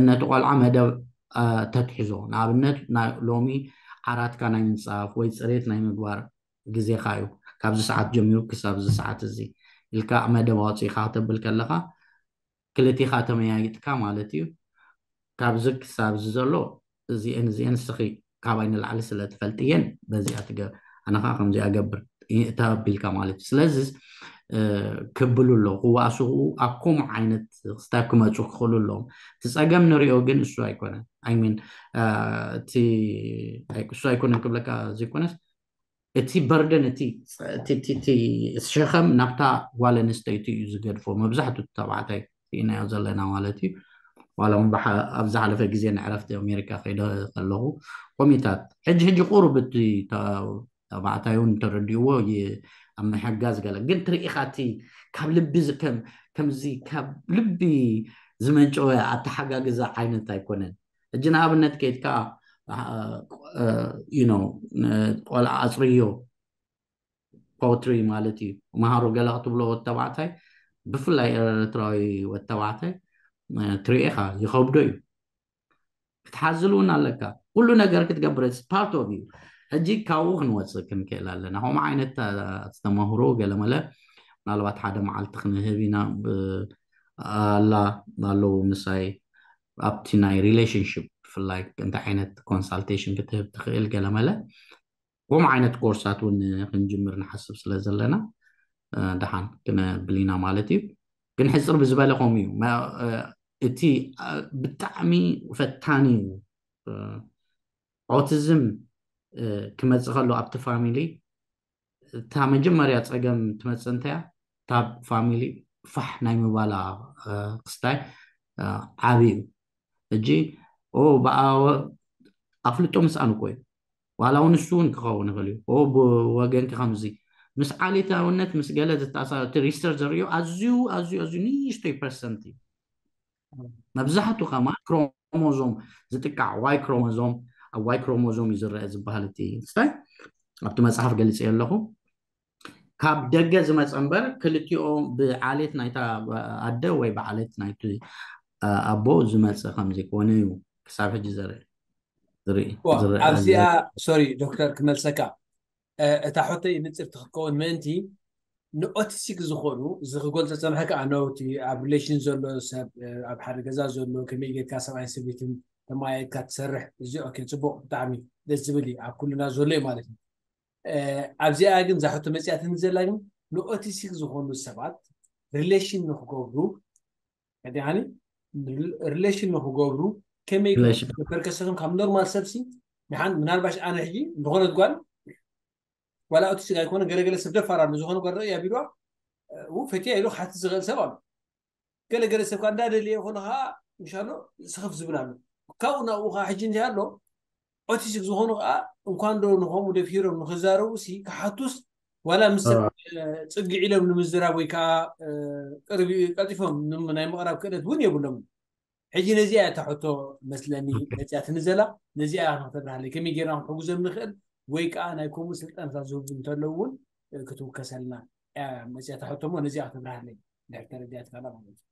ነቲ ቆልዓ መደብ ተትሕዞ፣ ንኣብነት ሎሚ ዓራትካ ናይ ምንፃፍ ወይ ፅሬት ናይ ምግባር ግዜኻ እዩ፣ ካብዚ ሰዓት ጀሚሩ ክሳብ እዚ ሰዓት እዚ ኢልካ መደብ ኣውፂእካ ክተብል ከለካ ክልቲኻ ተመያይጥካ ማለት እዩ። ካብዚ ክሳብ እዚ ዘሎ እዚአን እዚአን ንስኺ ካባይ ንላዕሊ ስለ ትፈልጥየን በዚኣ ትገ ኣነኻ ከምዚኣ ገብር እታ ኣቢልካ ማለት እዩ። ስለዚ ክብሉ ኣለዉ ክዋስኡ ኣብ ከምኡ ዓይነት ክስታይ ክመፁ ክኽእሉ ኣለዎም። እቲ ፀገም ንሪኦ ግን እሱ ኣይኮነን። ኣይሚን እቲ እሱ ኣይኮነን ክብለካ ዘይኮነስ እቲ በርደን እቲ ሸኸም ናብታ ጓል ኣንስተይቲ እዩ ዝገድፎ። መብዛሕትኡ ተባዕታይ ርኢናዮ ዘለና ማለት እዩ። ዋላ እውን ኣብ ዝሓለፈ ግዜ ንዕረፍቲ ኣሜሪካ ከይደ ከለኹ ኮሚታት ሕጂ ሕጂ ቁሩብ እቲ ተባዕታይ እውን ተረዲእዎ ኣብ ምሕጋዝ ገለ ግን ትርኢኻ እቲ ካብ ልቢ ከምዚ ካብ ልቢ ዝመንጨወ ኣተሓጋግዛ ዓይነት ኣይኮነን። ሕጂ ንኣብነት ከይድካ ቆልዓ ኣፅርዮ ፖትሪ ማለት እዩ። መሃሩ ገለ ክትብሎ ወተባዕታይ፣ ብፍላይ ኤርትራዊ ወተባዕታይ ትሪኤኻ ይኸብዶ እዩ። ክትሓዝል እውን ኣለካ። ኩሉ ነገር ክትገብር part of you። ሕጂ ካብኡ ክንወፅእ ክንክእል ኣለና። ከምኡ ዓይነት ዝተመህሩ ገለመለ ምናልባት ሓደ መዓልቲ ክንህብ ኢና። ኣላ ኣለዉ ምሳይ ኣብቲ ናይ ሪሌሽንሽፕ ብፍላይ እንታይ ዓይነት ኮንሳልቴሽን ክትህብ ትኽእል ገለመለ ከምኡ ዓይነት ኮርሳት እውን ክንጅምር ንሓስብ ስለ ዘለና ደሓን ክነብል ኢና ማለት እዩ። ግን ሕፅር ብዝበለ ከምኡ እዩ። እቲ ብጣዕሚ ፈታኒ እዩ። ኦቲዝም ክመፅእ ከሎ ኣብቲ ፋሚሊ እታ መጀመርያ ፀገም ትመፅእ እንተያ ካብ ፋሚሊ ፋሕ ናይ ምባላ ክስታይ ዓብዩ። ሕጂ ኣፍልጦ ምስኣን እኮ እዩ። ዋላ እውን እሱ እውን ክኸውን ይኽእል እዩ። ብወገንኪ ከምዚ ምስ ዓሌታውነት ምስ ገለ ዝተኣሳሰር ሪሰርች ዘርእዮ ኣዝዩ ኣዝዩ ኣዝዩ ንእሽቶይ ፐርሰንት እዩ። መብዛሕቱ ከማ ክሮሞዞም ዝጥቃዕ ዋይ ክሮሞዞም ኣብ ዋይ ክሮሞዞም እዩ ዝረአ ዝበሃል እቲ ስታይ ኣብቲ መፅሓፍ ገሊፀ ኣለኹ። ካብ ደገ ዝመፀ እምበር ክልቲኦ ብዓሌት ናይታ ኣደ ወይ ብዓሌት ናይቲ ኣቦ ዝመፀ ከም ዘይኮነ እዩ ክሳብ ሕጂ ዘርኢ ዝርኢ ዝረአ ኣብዚኣ ሶሪ ዶክተር ክመልሰካ እታ ሕቶይ ንፅርቲ ክትከውን ምእንቲ ንኦቲስቲክ ዝኾኑ እዚ ክገልፆ ፀንሐ ከዓ ነውቲ ኣብ ሪሌሽን ዘሎ ሰብ ኣብ ሓደ ገዛ ዘሎ ከመይ ጌርካ ሰብኣይ ሰበይትን ተማያየጥካ ትሰርሕ እዚ ኦኬ ፅቡቅ ብጣዕሚ ደስ ዝብል እዩ ኣብ ኩልና ዘሎ እዩ ማለት እዩ ኣብዚኣ ግን እዛ ሕቶ መፅያትኒ ዘላ ግን ንኦቲስቲክ ዝኾኑ ሰባት ሪሌሽን ንክገብሩ ዲኒ ሪሌሽን ንክገብሩ ከመይ ፐርከሰቶም ካብ ኖርማል ሰብሲ ንሓን ምናልባሽ ኣነ ሕጂ ዝኾነት ጓል ዋላ ኦቲስቲክ ኣይኮነ ገለገለ ሰብ ደፋር ኣሎ ዝኾነ ጓል ርእ ኣቢልዋ ፈትያ ኢሉ ክሓትት ዝኽእል ሰብ ኣሎ ገለገለ ሰብ ከዓ እንዳደልየ ይኾነ ከዓ ምሻሎ ስኽፍ ዝብል ኣሎ ካብኡ ናብኡ ከዓ ሕጂ እንታይ ኣሎ ኦቲስቲክ ዝኾኑ ከዓ እንኳን ዶ ንኸምኡ ደፊሮም ንክዛረቡ ሲ ክሓቱስ ዋላ ምስ ሰብ ፅግዕ ኢሎም ንምዝራብ ወይ ከዓ ቀልጢፎም ናይ ምቕራብ ክእለት እውን የብሎም ሕጂ ነዚኣ እታ ሕቶ መስለኒ መፅያትኒ ዘላ ነዚኣ ክትብርሃለይ ከመይ ጌርና ክንሕጉዘም ንኽእል ወይ ከዓ ናይ ከምኡ ስልጠናታት ዝህቡ እንተለዉ እውን ክትውከሰልና መፅያ እታ ሕቶ እሞ ነዚኣ ክትብርሃለይ ድሕር ተረዲኣትካላ ማለት እዩ